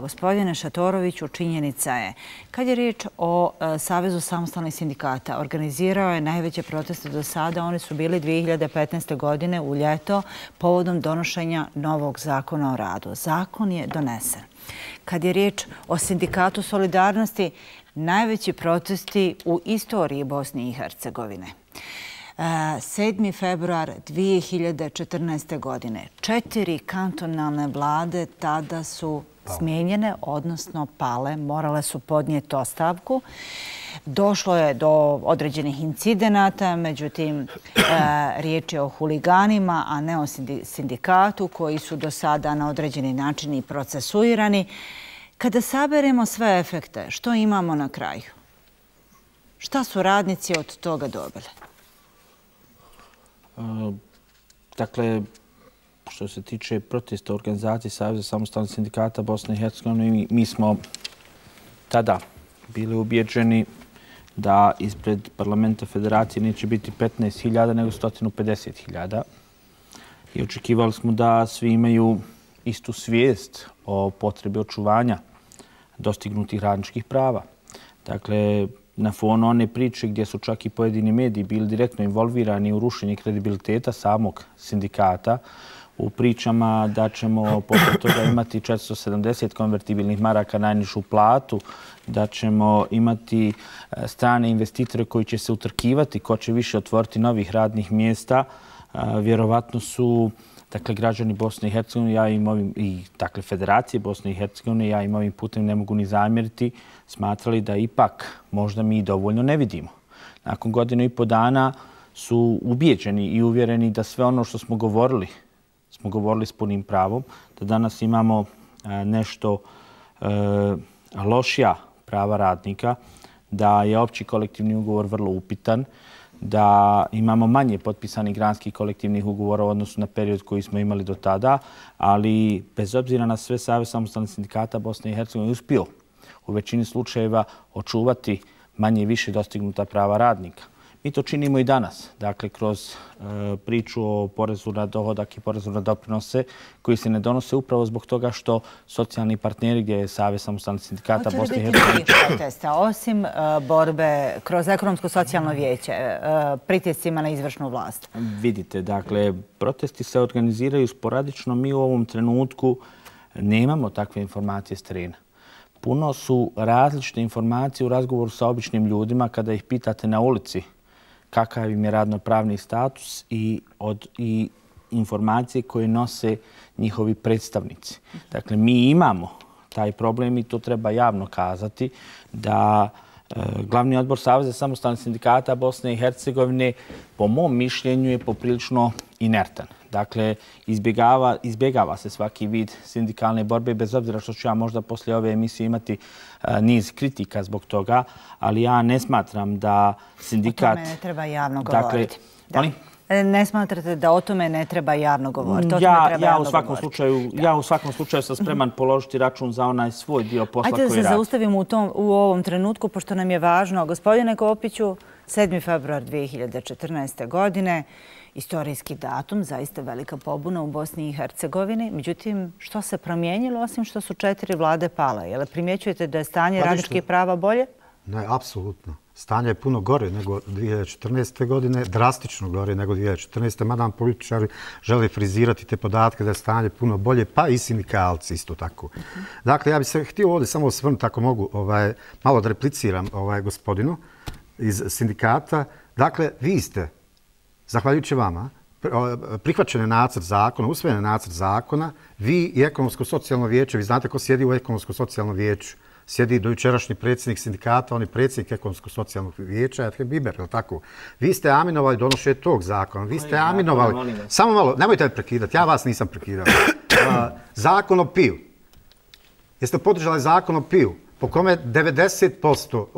gospodine Šatoroviću, činjenica je, kad je riječ o Savezu samostalnih sindikata, organizirao je najveće proteste do sada. Oni su bili dvije hiljade petnaeste. godine u ljeto povodom donošenja novog zakona o radu. Zakon je donesen. Kad je riječ o Sindikatu solidarnosti, najveći protesti u istoriji Bosne i Hercegovine. sedmi februar dvije hiljade četrnaeste. godine. Četiri kantonalne vlade tada su smijenjene, odnosno pale. Morale su podnijeti ostavku. Došlo je do određenih incidenata, međutim, riječ je o huliganima, a ne o sindikatu koji su do sada na određeni način i procesuirani. Kada saberemo sve efekte, što imamo na kraju? Šta su radnici od toga dobili? Dakle, što se tiče protesta organizacije Saveza samostalnih sindikata Bosne i Hercegovine, mi smo tada bili ubijeđeni da ispred parlamenta federacije neće biti petnaest hiljada, nego sto pedeset hiljada. I očekivali smo da svi imaju istu svijest o potrebi očuvanja dostignutih radničkih prava. Dakle, na fonu one priče gdje su čak i pojedini mediji bili direktno involvirani u rušenje kredibiliteta samog sindikata, u pričama da ćemo poput toga imati četiristo sedamdeset konvertibilnih maraka najnižu platu, da ćemo imati strane investitore koji će se utrkivati ko će više otvoriti novih radnih mjesta. Vjerovatno su dakle, građani Bosne i Hercegovine, ja im ovim, i dakle, Federacije Bosne i Hercegovine, ja im ovim putem ne mogu ni zamjeriti, smatrali da ipak možda mi dovoljno ne vidimo. Nakon godinu i po dana su ubijeđeni i uvjereni da sve ono što smo govorili, smo govorili s punim pravom, da danas imamo nešto e, lošija prava radnika, da je opći kolektivni ugovor vrlo upitan, da imamo manje potpisanih granskih kolektivnih ugovora u odnosu na period koji smo imali do tada, ali bez obzira na sve Savez samostalnih sindikata Bosne i Hercegovine je uspio u većini slučajeva očuvati manje i više dostignuta prava radnika. Mi to činimo i danas. Dakle, kroz priču o porezu na dohodak i porezu na doprinose koji se ne donose upravo zbog toga što socijalni partneri gdje je Savez samostalnih sindikata Bosne i Hercegovine... Hoće li biti protesta, osim borbe kroz ekonomsko-socijalno vijeće, pritiscima na izvršnu vlast? Vidite, dakle, protesti se organiziraju sporadično. Mi u ovom trenutku nemamo takve informacije s terena. Puno su različite informacije u razgovoru sa običnim ljudima kada ih pitate na ulici kakav im je radnopravni status i, od, i informacije koje nose njihovi predstavnici. Dakle, mi imamo taj problem i to treba javno kazati da e, Glavni odbor Saveza samostalnih sindikata Bosne i Hercegovine po mom mišljenju je poprilično inertan. Dakle, izbjegava, izbjegava se svaki vid sindikalne borbe, bez obzira što ću ja možda poslije ove emisije imati a, niz kritika zbog toga, ali ja ne smatram da sindikat... O tome ne treba javno dakle, govoriti. Ali? Ne smatrate da o tome ne treba javno govoriti? Ja, ja, u svakom slučaju, ja u svakom slučaju sam spreman položiti račun za onaj svoj dio posla koji radi. Ajde da se zaustavimo u, tom, u ovom trenutku, pošto nam je važno. Gospodine Kopiću, sedmi februar dvije hiljade četrnaeste. godine, istorijski datum, zaista velika pobuna u Bosni i Hercegovini. Međutim, što se promijenilo, osim što su četiri vlade pale? Jel primjećujete da je stanje pa radničkih prava bolje? Ne, apsolutno. Stanje je puno gore nego dvije hiljade četrnaeste. godine, drastično gore nego dvije hiljade četrnaeste. Mada nam političari žele frizirati te podatke da je stanje puno bolje, pa i sindikalci isto tako. Uh-huh. Dakle, ja bih se htio ovdje samo osvrnuti, ako mogu, ovaj, malo da repliciram ovaj, gospodinu iz sindikata. Dakle, vi ste, zahvaljujući vama, prihvaćen je nacrt zakona, usvojen je nacrt zakona, vi i ekonomsko-socijalno vijeće, vi znate ko sjedi u ekonomsko-socijalnom vijeću, sjedi dojučerašnji predsjednik sindikata, on je predsjednik ekonomsko-socijalnog vijeća, Efhem Biber, je li tako? Vi ste aminovali donošenje tog zakona, vi ste aminovali... Samo malo, nemojte me prekidati, ja vas nisam prekidao. Zakon o piju. Jeste podržali zakon o piju? Po kome devedeset posto,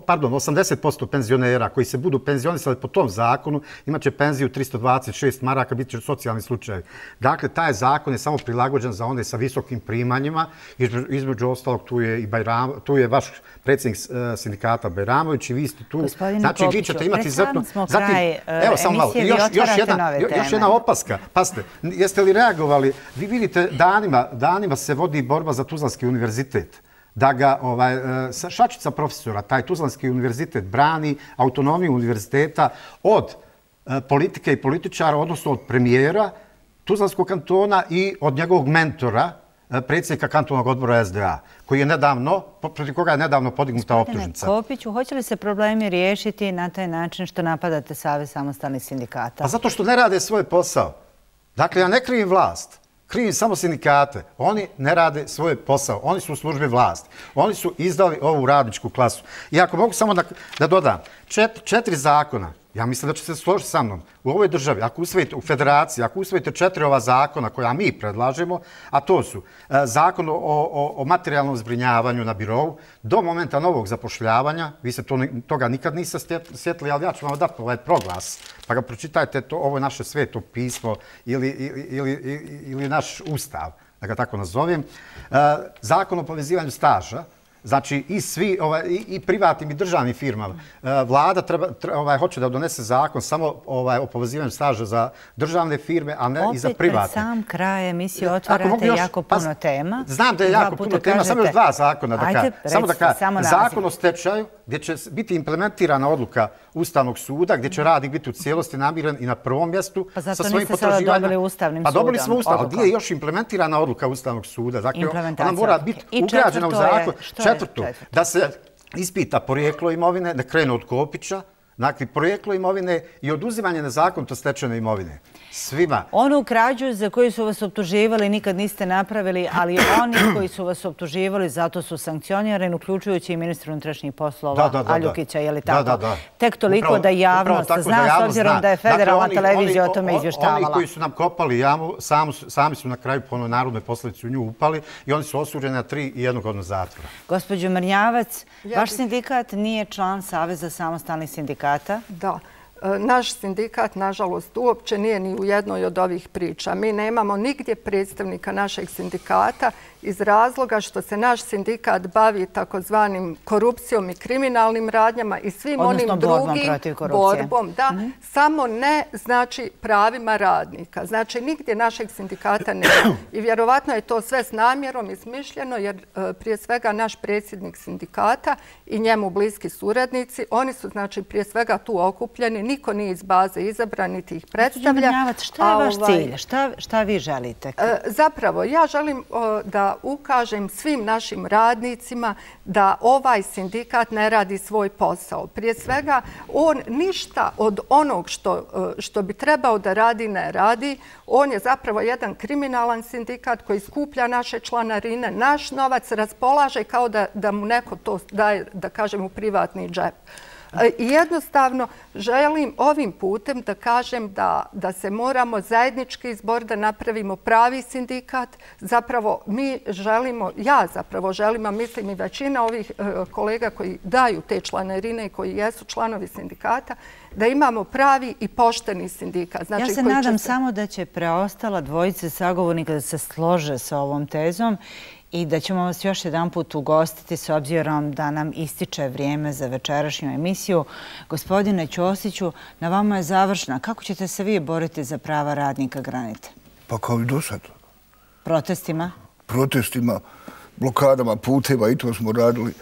pardon, osamdeset posto penzionera koji se budu penzionisali po tom zakonu imat će penziju tristo dvadeset šest maraka, bit će socijalni slučaj. Dakle, taj zakon je samo prilagođen za one sa visokim primanjima. Između ostalog, tu je, i Bajram, tu je vaš predsjednik sindikata Bajramović i vi ste tu. Gospodine znači, Kopiću, vi ćete imati zatim, zatim, evo, samo malo, još, još, jedna, još jedna opaska. Pazite, jeste li reagovali? Vi vidite, danima, danima se vodi borba za Tuzlanski univerzitet. Da ga ovaj, šačica profesora, taj Tuzlanski univerzitet, brani autonomiju univerziteta od politike i političara, odnosno od premijera Tuzlanskog kantona i od njegovog mentora, predsjednika kantonalnog odbora S D A, koji je nedavno, protiv koga je nedavno podignuta optužnica. Gospodine Kopiću, hoće li se problemi riješiti na taj način što napadate Savez samostalnih sindikata? Pa zato što ne rade svoj posao. Dakle, ja ne krivim vlast. Krivim samo sindikate. Oni ne rade svoj posao. Oni su u službi vlasti. Oni su izdali ovu radničku klasu. I ako mogu samo da, da dodam, čet, četiri zakona, ja mislim da će se složiti sa mnom, u ovoj državi, ako usvojite u federaciji, ako usvojite četiri ova zakona koja mi predlažemo, a to su e, zakon o, o, o materijalnom zbrinjavanju na birovu, do momenta novog zapošljavanja, vi se to, toga nikad niste sjetili, ali ja ću vam dati ovaj proglas, pa ga pročitajte, to, ovo je naše sveto pismo ili, ili, ili, ili, ili naš ustav, da ga tako nazovem. E, zakon o povezivanju staža, znači i svi ovaj, i, i privatnim i državnim firmama. E, vlada treba, treba, ovaj, hoće da donese zakon samo ovaj, o povezivanju staža za državne firme, a ne opet i za privatne. Opet pred sam kraj emisije otvarate još, jako puno pa, tema. Znam da je jako puno kažete, tema, samo još dva zakona. Da ajde, recite, samo da kažem, zakon o stečaju gdje će biti implementirana odluka Ustavnog suda, gdje će radnik biti u cijelosti namiren i na prvom mjestu pa sa svojim potraživanjima. Pa zato niste sada dobili Ustavnim pa sudom? Pa dobili smo Ustav, ali gdje je još implementirana odluka Ustavnog suda? Dakle, ona mora biti ugrađena u zakon. Četvrto, da se ispita porijeklo imovine, da krene od Kopića, dakle, porijeklo imovine i oduzimanje nezakonito stečene imovine. Svima. Onu krađu za koju su vas optuživali nikad niste napravili, ali oni koji su vas optuživali zato su sankcionirani, uključujući i ministra unutrašnjih poslova da, da, da, Aljukića, je li tako? Da, da, da. Tek toliko upravo, da javnost zna, s obzirom zna. Da je federalna dakle, oni, televizija oni, o tome izvještavala. Oni koji su nam kopali jamu, sami, sami su na kraju po onoj narodnoj posljedici u nju upali i oni su osuđeni na tri i jednu godinu zatvora. Gospođo Mrnjavac, ja vaš bi... sindikat nije član Saveza samostalnih sindikata? Da. Naš sindikat, nažalost, uopće nije ni u jednoj od ovih priča. Mi nemamo nigdje predstavnika našeg sindikata iz razloga što se naš sindikat bavi takozvanim korupcijom i kriminalnim radnjama i svim onim drugim borbom. Da, samo ne znači pravima radnika. Znači, nigdje našeg sindikata nema. I vjerovatno je to sve s namjerom izmišljeno jer prije svega naš predsjednik sindikata i njemu bliski suradnici, oni su znači prije svega tu okupljeni, niko nije iz baze izabran, niti ih predstavlja. Šta je vaš cilj? Šta vi želite? Zapravo, ja želim da ukažem svim našim radnicima da ovaj sindikat ne radi svoj posao. Prije svega, on ništa od onog što bi trebao da radi ne radi. On je zapravo jedan kriminalan sindikat koji skuplja naše članarine, naš novac raspolaže kao da mu neko to daje, da kažem, u privatni džep. I jednostavno želim ovim putem da kažem da se moramo zajednički izbor da napravimo pravi sindikat. Zapravo mi želimo, ja zapravo želim, a mislim i većina ovih kolega koji daju te članarine i koji jesu članovi sindikata, da imamo pravi i pošteni sindikat. Ja se nadam samo da će preostala dvojice sagovornika da se slože sa ovom tezom i da ćemo vas još jedan put ugostiti s obzirom da nam ističe vrijeme za večerašnju emisiju. Gospodine Ćosiću, na vama je završna. Kako ćete se vi boriti za prava radnika Granite? Pa kao i do sad. Protestima? Protestima, blokadama, puteva i to smo radili.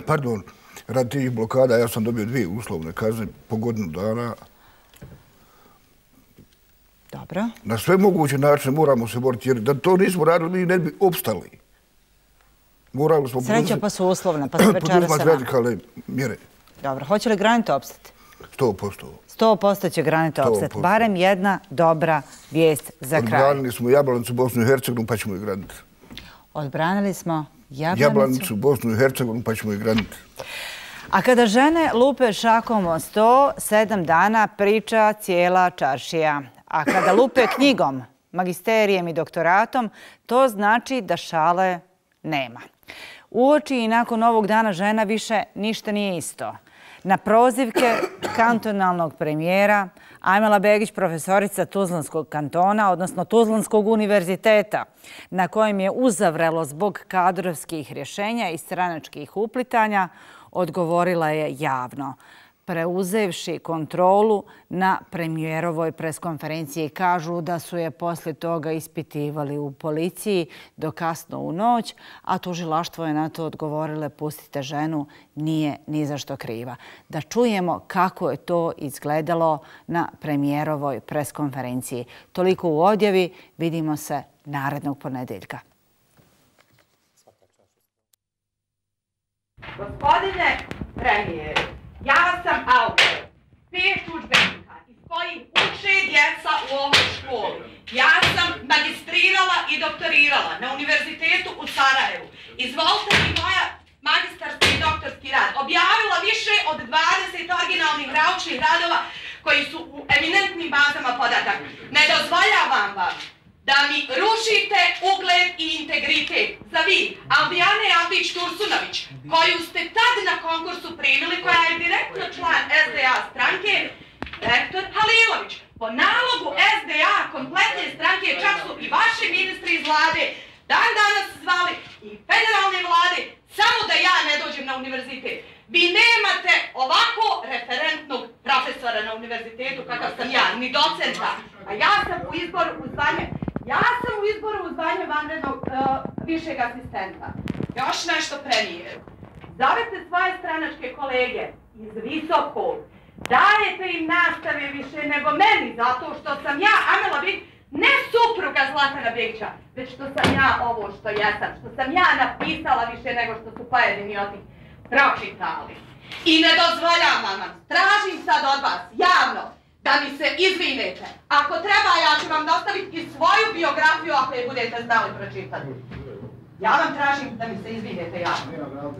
Pardon, radi tih blokada ja sam dobio dvije uslovne kazne po godinu dana. Dobro. Na sve moguće načine moramo se boriti, jer da to nismo radili, mi ne bi opstali. Sreća pa su uslovne, pa se večera se poduzmati radikalne mjere. Dobro, hoće li Granite opstati? Sto posto. Sto posto će Granite opstati. Barem jedna dobra vijest za kraj. Odbranili smo Jablanicu, Bosnu i Hercegovinu, pa ćemo i graditi. Odbranili smo Jablanicu? Jablanicu, Bosnu i Hercegovinu, pa ćemo i graditi. A kada žene lupe šakom o sto, sedam dana priča cijela čaršija. A kada lupe knjigom, magisterijem i doktoratom, to znači da šale nema. Uoči i nakon ovog dana žena više ništa nije isto. Na prozivke kantonalnog premijera Ajmela Begić, profesorica Tuzlanskog kantona, odnosno Tuzlanskog univerziteta, na kojem je uzavrelo zbog kadrovskih rješenja i stranačkih uplitanja, odgovorila je javno, preuzevši kontrolu na premijerovoj preskonferenciji. Kažu da su je poslije toga ispitivali u policiji do kasno u noć, a tužilaštvo je na to odgovorile pustite ženu, nije ni za što kriva. Da čujemo kako je to izgledalo na premijerovoj preskonferenciji. Toliko u odjavi, vidimo se narednog ponedjeljka. Gospodine premijeru, ja sam autor pet udžbenika iz kojih uče djeca u ovoj školi. Ja sam magistrirala i doktorirala na univerzitetu u Sarajevu. Izvolite mi moja magistarski i doktorski rad. Objavila više od dvadeset originalnih naučnih radova koji su u eminentnim bazama podataka. Ne dozvoljavam vam da mi rušite ugled i integritet za vi, Aldijane Aldić-Tursunović, koju ste tad na konkursu primili, koja je direktno član S D A stranke, rektor Halilović. Po nalogu S D A kompletne stranke, čak su i vaši ministri iz vlade dan danas zvali i federalne vlade, samo da ja ne dođem na univerzitet. Vi nemate ovako referentnog profesora na univerzitetu kakav sam ja, ni docenta, a ja sam u izboru u zvanje Ja sam u izboru u zvanje vanrednog uh, višeg asistenta. Još nešto premijeru. Zovete svoje stranačke kolege iz Visokog. Dajete im nastave više nego meni, zato što sam ja, Amela Begić, ne supruga Zlatana Begića, već što sam ja ovo što jesam, što sam ja napisala više nego što su pojedini od njih pročitali. I ne dozvoljavam vam, tražim sad od vas, javno, da mi se izvinete. Ako treba, ja ću vam dostaviti i svoju biografiju ako je budete znali pročitati. Ja vam tražim da mi se izvinete javno.